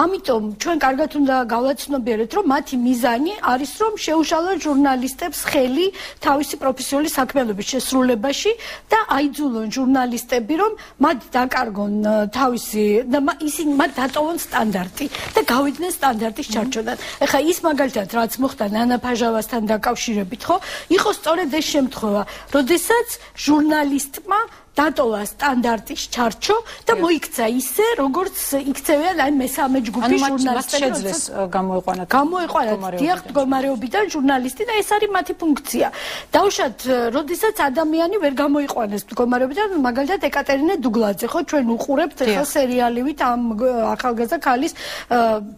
S7: ამიტომ ჩვენ კარგად უნდა გავაცნობიეროთ, რომ მათი მიზანი არის, რომ შეუშალონ ჟურნალისტებს ხელი თავისი პროფესიული საქმიანობის შესრულებაში და აიძულონ ჟურნალისტები, რომ მათ დაკარგონ თავისი და ისინი მათ დატოვონ სტანდარტი და გავიდნენ სტანდარტის ჩარჩოდან. ეხლა ის მაგალითად რაც მოხდა ნანა ფაჟავასთან დაკავშირებით, ხო? იყო სწორედ ეს შემთხვევა, როდესაც ჟურნალისტმა დატოვა სტანდარტის ჩარჩო და მოიქცა ისე, როგორც იქცევიან აი მესამე ჯგუფის ჟურნალისტები.
S1: შეძლეს გამოიყვანათ.
S7: გამოიყვანათ დიახ მდგომარეობიდან ჟურნალისტი და ეს არის მათი ფუნქცია. დაუშვათ, როდესაც ადამიანი ვერ გამოიყვანეს მდგომარეობიდან, მაგალითად ეკატერინე დუგლაძე, ხო, ჩვენ უყურებთ ახლა სერიალივით ამ ახალგაზრდა ქალის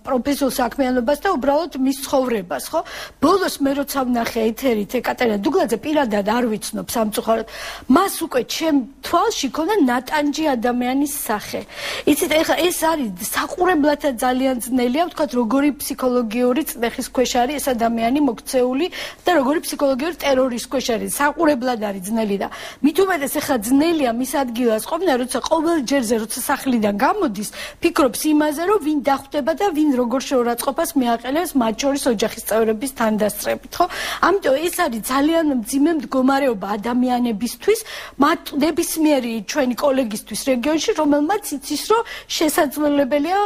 S7: პროფესიულ საქმიანობას და უბრალოდ მის ცხოვრებას, ხო? ბოლოს მე როცა ვნახე ეთერით ეკატერინე დუგლაძე პირადად არ ვიცნობ სამწუხაროდ, მას უკვე ჩემ თვალში ქონდა ნატანჯი ადამიანის სახე. იცით, ეხლა ეს არის საყურებლათაც ძალიან ძნელია, ვთქვათ, როგორი ფსიქოლოგიური წნეხის ქვეშ არის ეს ადამიანი მოქცეული და როგორი ფსიქოლოგიური ტერორის ქვეშ არის. საყურებლად არის ძნელი და მით უმეტეს ეხლა ძნელია მის ადგილას ყოფნა, როცა ყოველ ჯერზე, როცა სახლიდან გამოდის, ფიქრობს იმაზე, რომ ვინ დახვდება და ვინ როგორ შეურაცხყოფას მიაყენებს მათ შორის ოჯახის წევრების თანდასწრებით, ხო? ამიტომ ეს არის ძალიან მძიმე მდგომარეობა ადამიანებისთვის, მათ ნებისმიერი ჩვენი კოლეგისთვის რეგიონში, რომელმაც იცის, რომ შესაძლებელია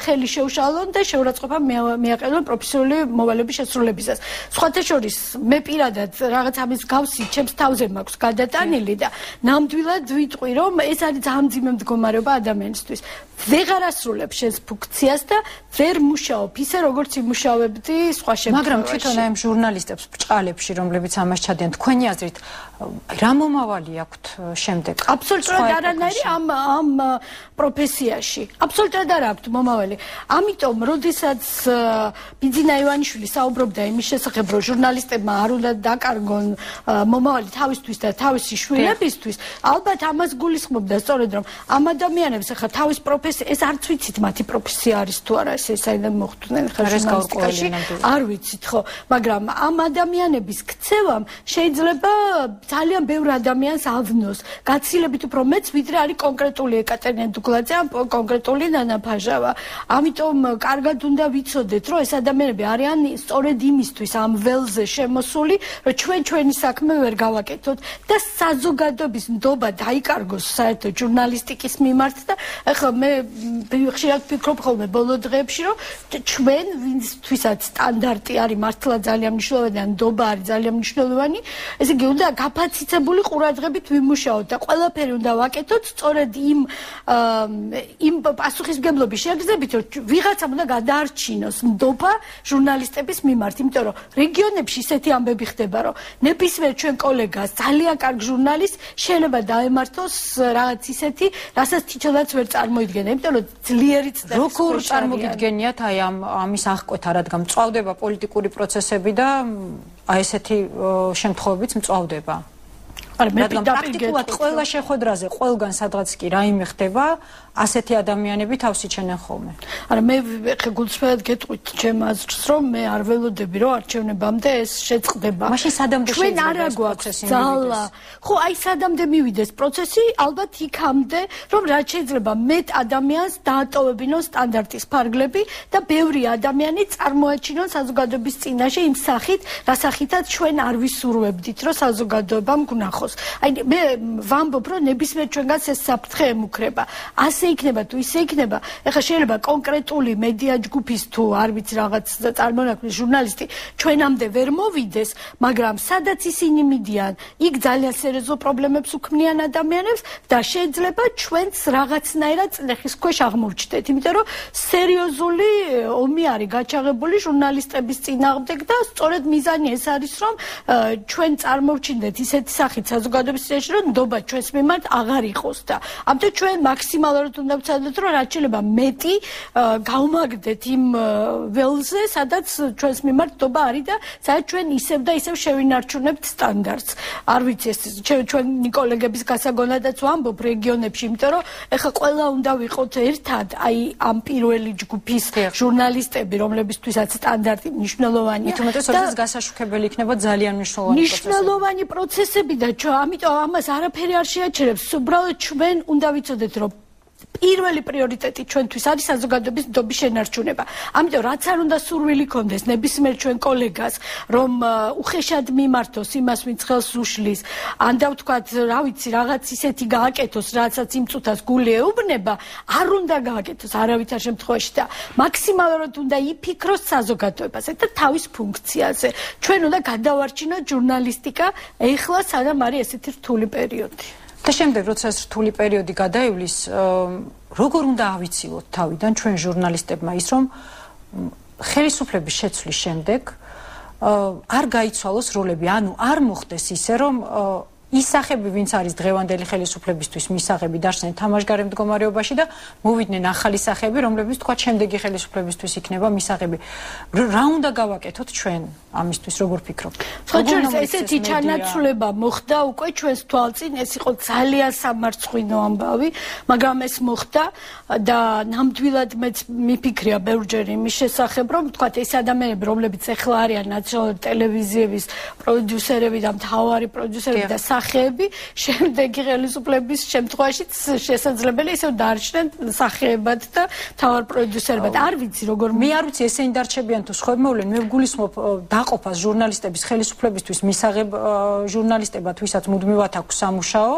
S7: ხელი შეუშალონ და შეურაცხყოფა მიაყენონ პროფესიული მოვალეობის შესრულებისას. სხვათა შორის, მე პირადად რაღაც ამის გავსი ჩემს თავზე მაქვს გადატანილი და ნამდვილად ვიტყვი, რომ ეს არის ძალიან მძიმე მდგომარეობა ადამიანისთვის. ვეღარ ასრულებ შენს ფუნქციას და ვერ მუშაობ ისე, როგორც იმუშავებდი სხვა შემთხვევაში.
S1: მაგრამ თვითონ ამ ჟურნალისტებს ბრჭყალებში, რომლებიც ამას ჩადიან, თქვენი აზრით, რა მომავალი აქვთ შემდეგ?
S7: აბსოლუტურად არანაირი ამ ამ პროფესიაში. აბსოლუტურად არ აქვთ მომავალი. ამიტომ, როდესაც ბიძინა ივანიშვილი საუბრობდა იმის შესახებ, რომ ჟურნალისტებმა არ უნდა დაკარგონ მომავალი თავისთვის და თავისი შვილებისთვის, ალბათ ამას გულისხმობდა სწორედ, რომ ამ ადამიანებს ახლა თავის პროფესია, ეს არც ვიცით მათი პროფესია არის თუ არა, ეს საიდან მოხვდნენ ხა ჟურნალისტიკაში, არ ვიცით ხო, მაგრამ ამ ადამიანების ქცევამ შეიძლება ძალიან ბევრ ადამიანს ავნოს. გაცილებით უფრო მეც, ვიდრე არის კონკრეტული ეკატერინე დუგლაძე, კონკრეტული ნანა ფაჟავა. ამიტომ კარგად უნდა ვიცოდეთ, რომ ეს ადამიანები არიან სწორედ იმისთვის ამ ველზე შემოსული, რომ ჩვენ ჩვენი საქმე ვერ გავაკეთოთ და საზოგადოების ნდობა დაიკარგოს საერთოდ ჟურნალისტიკის მიმართ და ახლა მე ხშირად ვფიქრობ ხოლმე ბოლო დღეებში, რომ ჩვენ ვინცთვისაც სტანდარტი არის მართლა ძალიან მნიშვნელოვანი, ნდობა არის ძალიან მნიშვნელოვანი, ესე იგი უნდა გაფაციცებული ყურადღებით ვიმუშაოთ და ყველაფერი უნდა ვაკეთოთ სწორედ იმ იმ პასუხისმგებლობის შეგრძნებით, რომ ვიღაცამ უნდა გადაარჩინოს ნდობა ჟურნალისტების მიმართ, იმიტომ რომ რეგიონებში ისეთი ამბები ხდება, რომ ნებისმიერ ჩვენ კოლეგას ძალიან კარგ ჟურნალისტს შეიძლება დაემართოს რაღაც ისეთი, რასაც თვითონაც ვერ წარმოიდგენა, იმიტომ რომ ძლიერი წნეხის
S1: როგორ წარმოგიდგენიათ აი ამ ამის აღკვეთა, რადგან მწვავდება პოლიტიკური პროცესები და აი ესეთი შემთხვევებიც მწვავდება. რადგან პრაქტიკულად ყველა შეხვედრაზე, ყველგან სადღაც კი რაიმე ხდება, ასეთი ადამიანები თავს იჩენენ ხოლმე.
S7: არა, მე ხე გულწრფელად გეტყვით ჩემ აზრს, რომ მე არ ველოდები, რომ არჩევნებამდე ეს შეწყდება.
S1: მაშინ სადამდე
S7: შეიძლება ეს პროცესი მივიდეს? ხო, აი სადამდე მივიდეს პროცესი, ალბათ იქამდე, რომ რაც შეიძლება მეტ ადამიანს დაატოვებინონ სტანდარტის ფარგლები და ბევრი ადამიანი წარმოაჩინონ საზოგადოების წინაშე იმ სახით, რა სახითაც ჩვენ არ ვისურვებდით, რომ საზოგადოებამ გნახოს. აი მე ვამბობ, რომ ნებისმიერ ჩვენგანს ეს საფრთხე ემუქრება. ასე იქნება თუ ისე იქნება, ეხლა შეიძლება კონკრეტული მედია ჯგუფის თუ არ ვიცი რაღაც წარმონაქმნის ჟურნალისტი ჩვენამდე ვერ მოვიდეს, მაგრამ სადაც ისინი მიდიან, იქ ძალიან სერიოზულ პრობლემებს უქმნიან ადამიანებს და შეიძლება ჩვენც რაღაცნაირად წნეხის ქვეშ აღმოჩნდეთ, იმიტომ რომ სერიოზული ომი არის გაჩაღებული ჟურნალისტების წინააღმდეგ და სწორედ მიზანი ეს არის, რომ ჩვენ წარმოვჩინდეთ ისეთი სახით საზოგადოების წინაშე, რომ ნდობა ჩვენს მიმართ აღარ იყოს და ამიტომ ჩვენ მაქსიმალურად მაგისტრალურად უნდა ვცადოთ, რომ რაც შეიძლება მეტი გავმაგდეთ იმ ველზე, სადაც ჩვენს მიმართობა არის და სადაც ჩვენ ისევ და ისევ შევინარჩუნებთ სტანდარტს. არ ვიცი ეს ჩვენი კოლეგების გასაგონადაც ვამბობ რეგიონებში, იმიტომ რომ ეხლა ყველა უნდა ვიყოთ ერთად, აი ამ პირველი ჯგუფის ჟურნალისტები, რომლებისთვისაც სტანდარტი მნიშვნელოვანია.
S1: თუმცა ეს გასაშუქებელი იქნება ძალიან მნიშვნელოვანი პროცესი.
S7: მნიშვნელოვანი პროცესები და ჩვენ ამიტომ ამას არაფერი არ შეაჩერებს. უბრალოდ ჩვენ უნდა ვიცოდეთ, რომ პირველი პრიორიტეტი ჩვენთვის არის საზოგადოების ნდობის შენარჩუნება. ამიტომ რაც არ უნდა სურვილი კონდეს ნებისმიერ ჩვენ კოლეგას, რომ უხეშად მიმართოს იმას, ვინც ხელს უშლის, ან და ვთქვათ, რა ვიცი, რაღაც ისეთი გააკეთოს, რასაც იმ წუთას გული ეუბნება, არ უნდა გააკეთოს არავითარ შემთხვევაში და მაქსიმალურად უნდა იფიქროს საზოგადოებაზე და თავის ფუნქციაზე. ჩვენ უნდა გადავარჩინოთ ჟურნალისტიკა, ეხლა სანამ არის ესეთი რთული პერიოდი.
S1: და შემდეგ როცა ეს რთული პერიოდი გადაივლის, როგორ უნდა ავიცილოთ თავიდან ჩვენ ჟურნალისტებმა ის, რომ ხელისუფლების შეცვლის შემდეგ არ გაიცვალოს როლები, ანუ არ მოხდეს ისე, რომ ის სახები, ვინც არის დღევანდელი ხელისუფლებისთვის მისაღები დარჩნენ თამაშგარე მდგომარეობაში და მოვიდნენ ახალი სახები, რომლებიც თქვა შემდეგი ხელისუფლებისთვის იქნება მისაღები. რა უნდა გავაკეთოთ ჩვენ ამისთვის, როგორ ფიქრობთ?
S7: ხოჭერს ესეთი ჩანაცვლება მოხდა უკვე ჩვენს თვალწინ, ეს იყო ძალიან სამარცხვინო ამბავი, მაგრამ ეს მოხდა და ნამდვილად მეც მიფიქრია ბევრჯერ იმის შესახებ, რომ თქვა ეს ადამიანები, რომლებიც ეხლა არიან ნაციონალური ტელევიზიების პროდიუსერები და მთავარი პროდიუსერები და სახეები, შემდეგი ხელისუფლების შემთხვევაშიც შესაძლებელი ისევ დარჩნენ სახეებად და მთავარ პროდიუსერებად. არ ვიცი როგორ
S1: მე არ ვიცი ესენი დარჩებიან თუ სხვა მოვლენ, მე ვგულისხმობ დაყოფას ჟურნალისტების ხელისუფლებისთვის მისაღებ ჟურნალისტებად, ვისაც მუდმივად აქვს სამუშაო,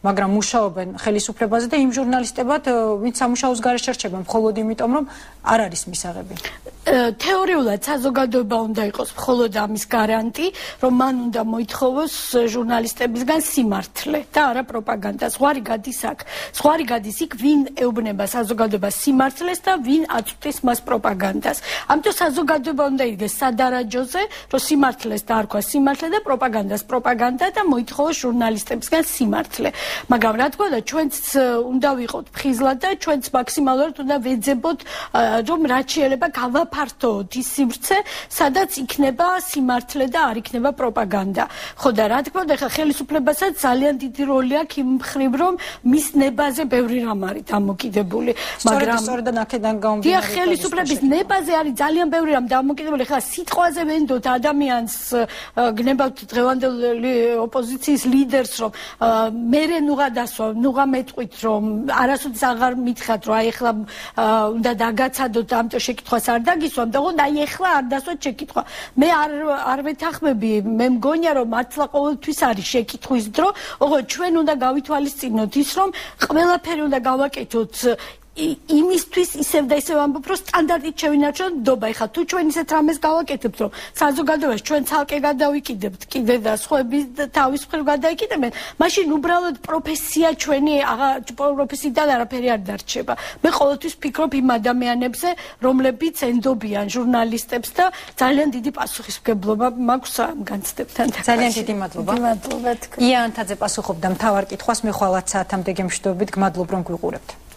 S1: მაგრამ მუშაობენ ხელისუფლებაზე და იმ ჟურნალისტებად, ვინც სამუშაოს გარეშე რჩება, მხოლოდ იმიტომ, რომ არ არის მისაღები.
S7: თეორიულად საზოგადოება უნდა იყოს მხოლოდ ამის გარანტი, რომ მან უნდა მოითხოვოს ჟურნალისტებისგან სიმართლე და არა პროპაგანდა. ზღვარი გადის აქ. ზღვარი გადის იქ, ვინ ეუბნება საზოგადოებას სიმართლეს და ვინ აწვდის მას პროპაგანდას. ამიტომ საზოგადოება უნდა იდგეს სადარაჯოზე, რომ სიმართლეს დაარქვა სიმართლე და პროპაგანდას პროპაგანდა და მოითხოვოს ჟურნალისტებისგან სიმართლე. მაგრამ რა თქმა უნდა, ჩვენც უნდა ვიყოთ ფხიზლად და ჩვენც მაქსიმალურად უნდა ვეძებოთ, რომ რაც შეიძლება გავაფართოოთ ის სივრცე, სადაც იქნება სიმართლე და არ იქნება პროპაგანდა. ხო და რა თქმა უნდა, ხა ხელისუფლებასაც ძალიან დიდი როლი აქვს იმ მხრივ, რომ მის ნებაზე ბევრი რამ არის დამოკიდებული.
S1: მაგრამ სწორედ აქედან გამომდინარე,
S7: ხელისუფლების ნებაზე არის ძალიან ბევრი რამ დამოკიდებული. ხა სიტყვაზე ვენდოთ ადამიანს, გნებავთ დღევანდელი ოპოზიციის ლიდერს, რომ მერე ნუღა დასვა, ნუღა მეტყვით, რომ არასოდეს აღარ მითხრათ, რომ აი ეხლა უნდა დაგაცადოთ, ამიტომ შეკითხვას არ დაგისვამ და უნდა აი ეხლა არ დასვათ შეკითხვა. მე არ არ ვეთანხმები, მე მგონია, რომ მართლა ყოველთვის არის შეკითხვის დრო, ოღონდ ჩვენ უნდა გავითვალისწინოთ ის, რომ ყველაფერი უნდა გავაკეთოთ იმისთვის ისევ და ისევ ამბობ, რომ სტანდარტით შევინარჩუნოთ ნდობა. ეხლა თუ ჩვენ ისეთ რამეს გავაკეთებთ, რომ საზოგადოებას ჩვენ ცალკე გადავიკიდებთ, კიდე და სხვები თავის მხრივ გადაიკიდებენ, მაშინ უბრალოდ პროფესია ჩვენი პროფესიიდან არაფერი არ დარჩება. მე ყოველთვის ვფიქრობ იმ ადამიანებზე, რომლებიც ენდობიან ჟურნალისტებს და ძალიან დიდი პასუხისმგებლობა მაქვს ამ განცდებთან.
S1: ძალიან დიდი მადლობა.
S7: მადლობა თქვენ.
S1: ია ანთაძე პასუხობდა მთავარ კითხვას, მე ხვალაც საათამდე გემშვიდობით, გმადლობ რომ გვიყურებთ.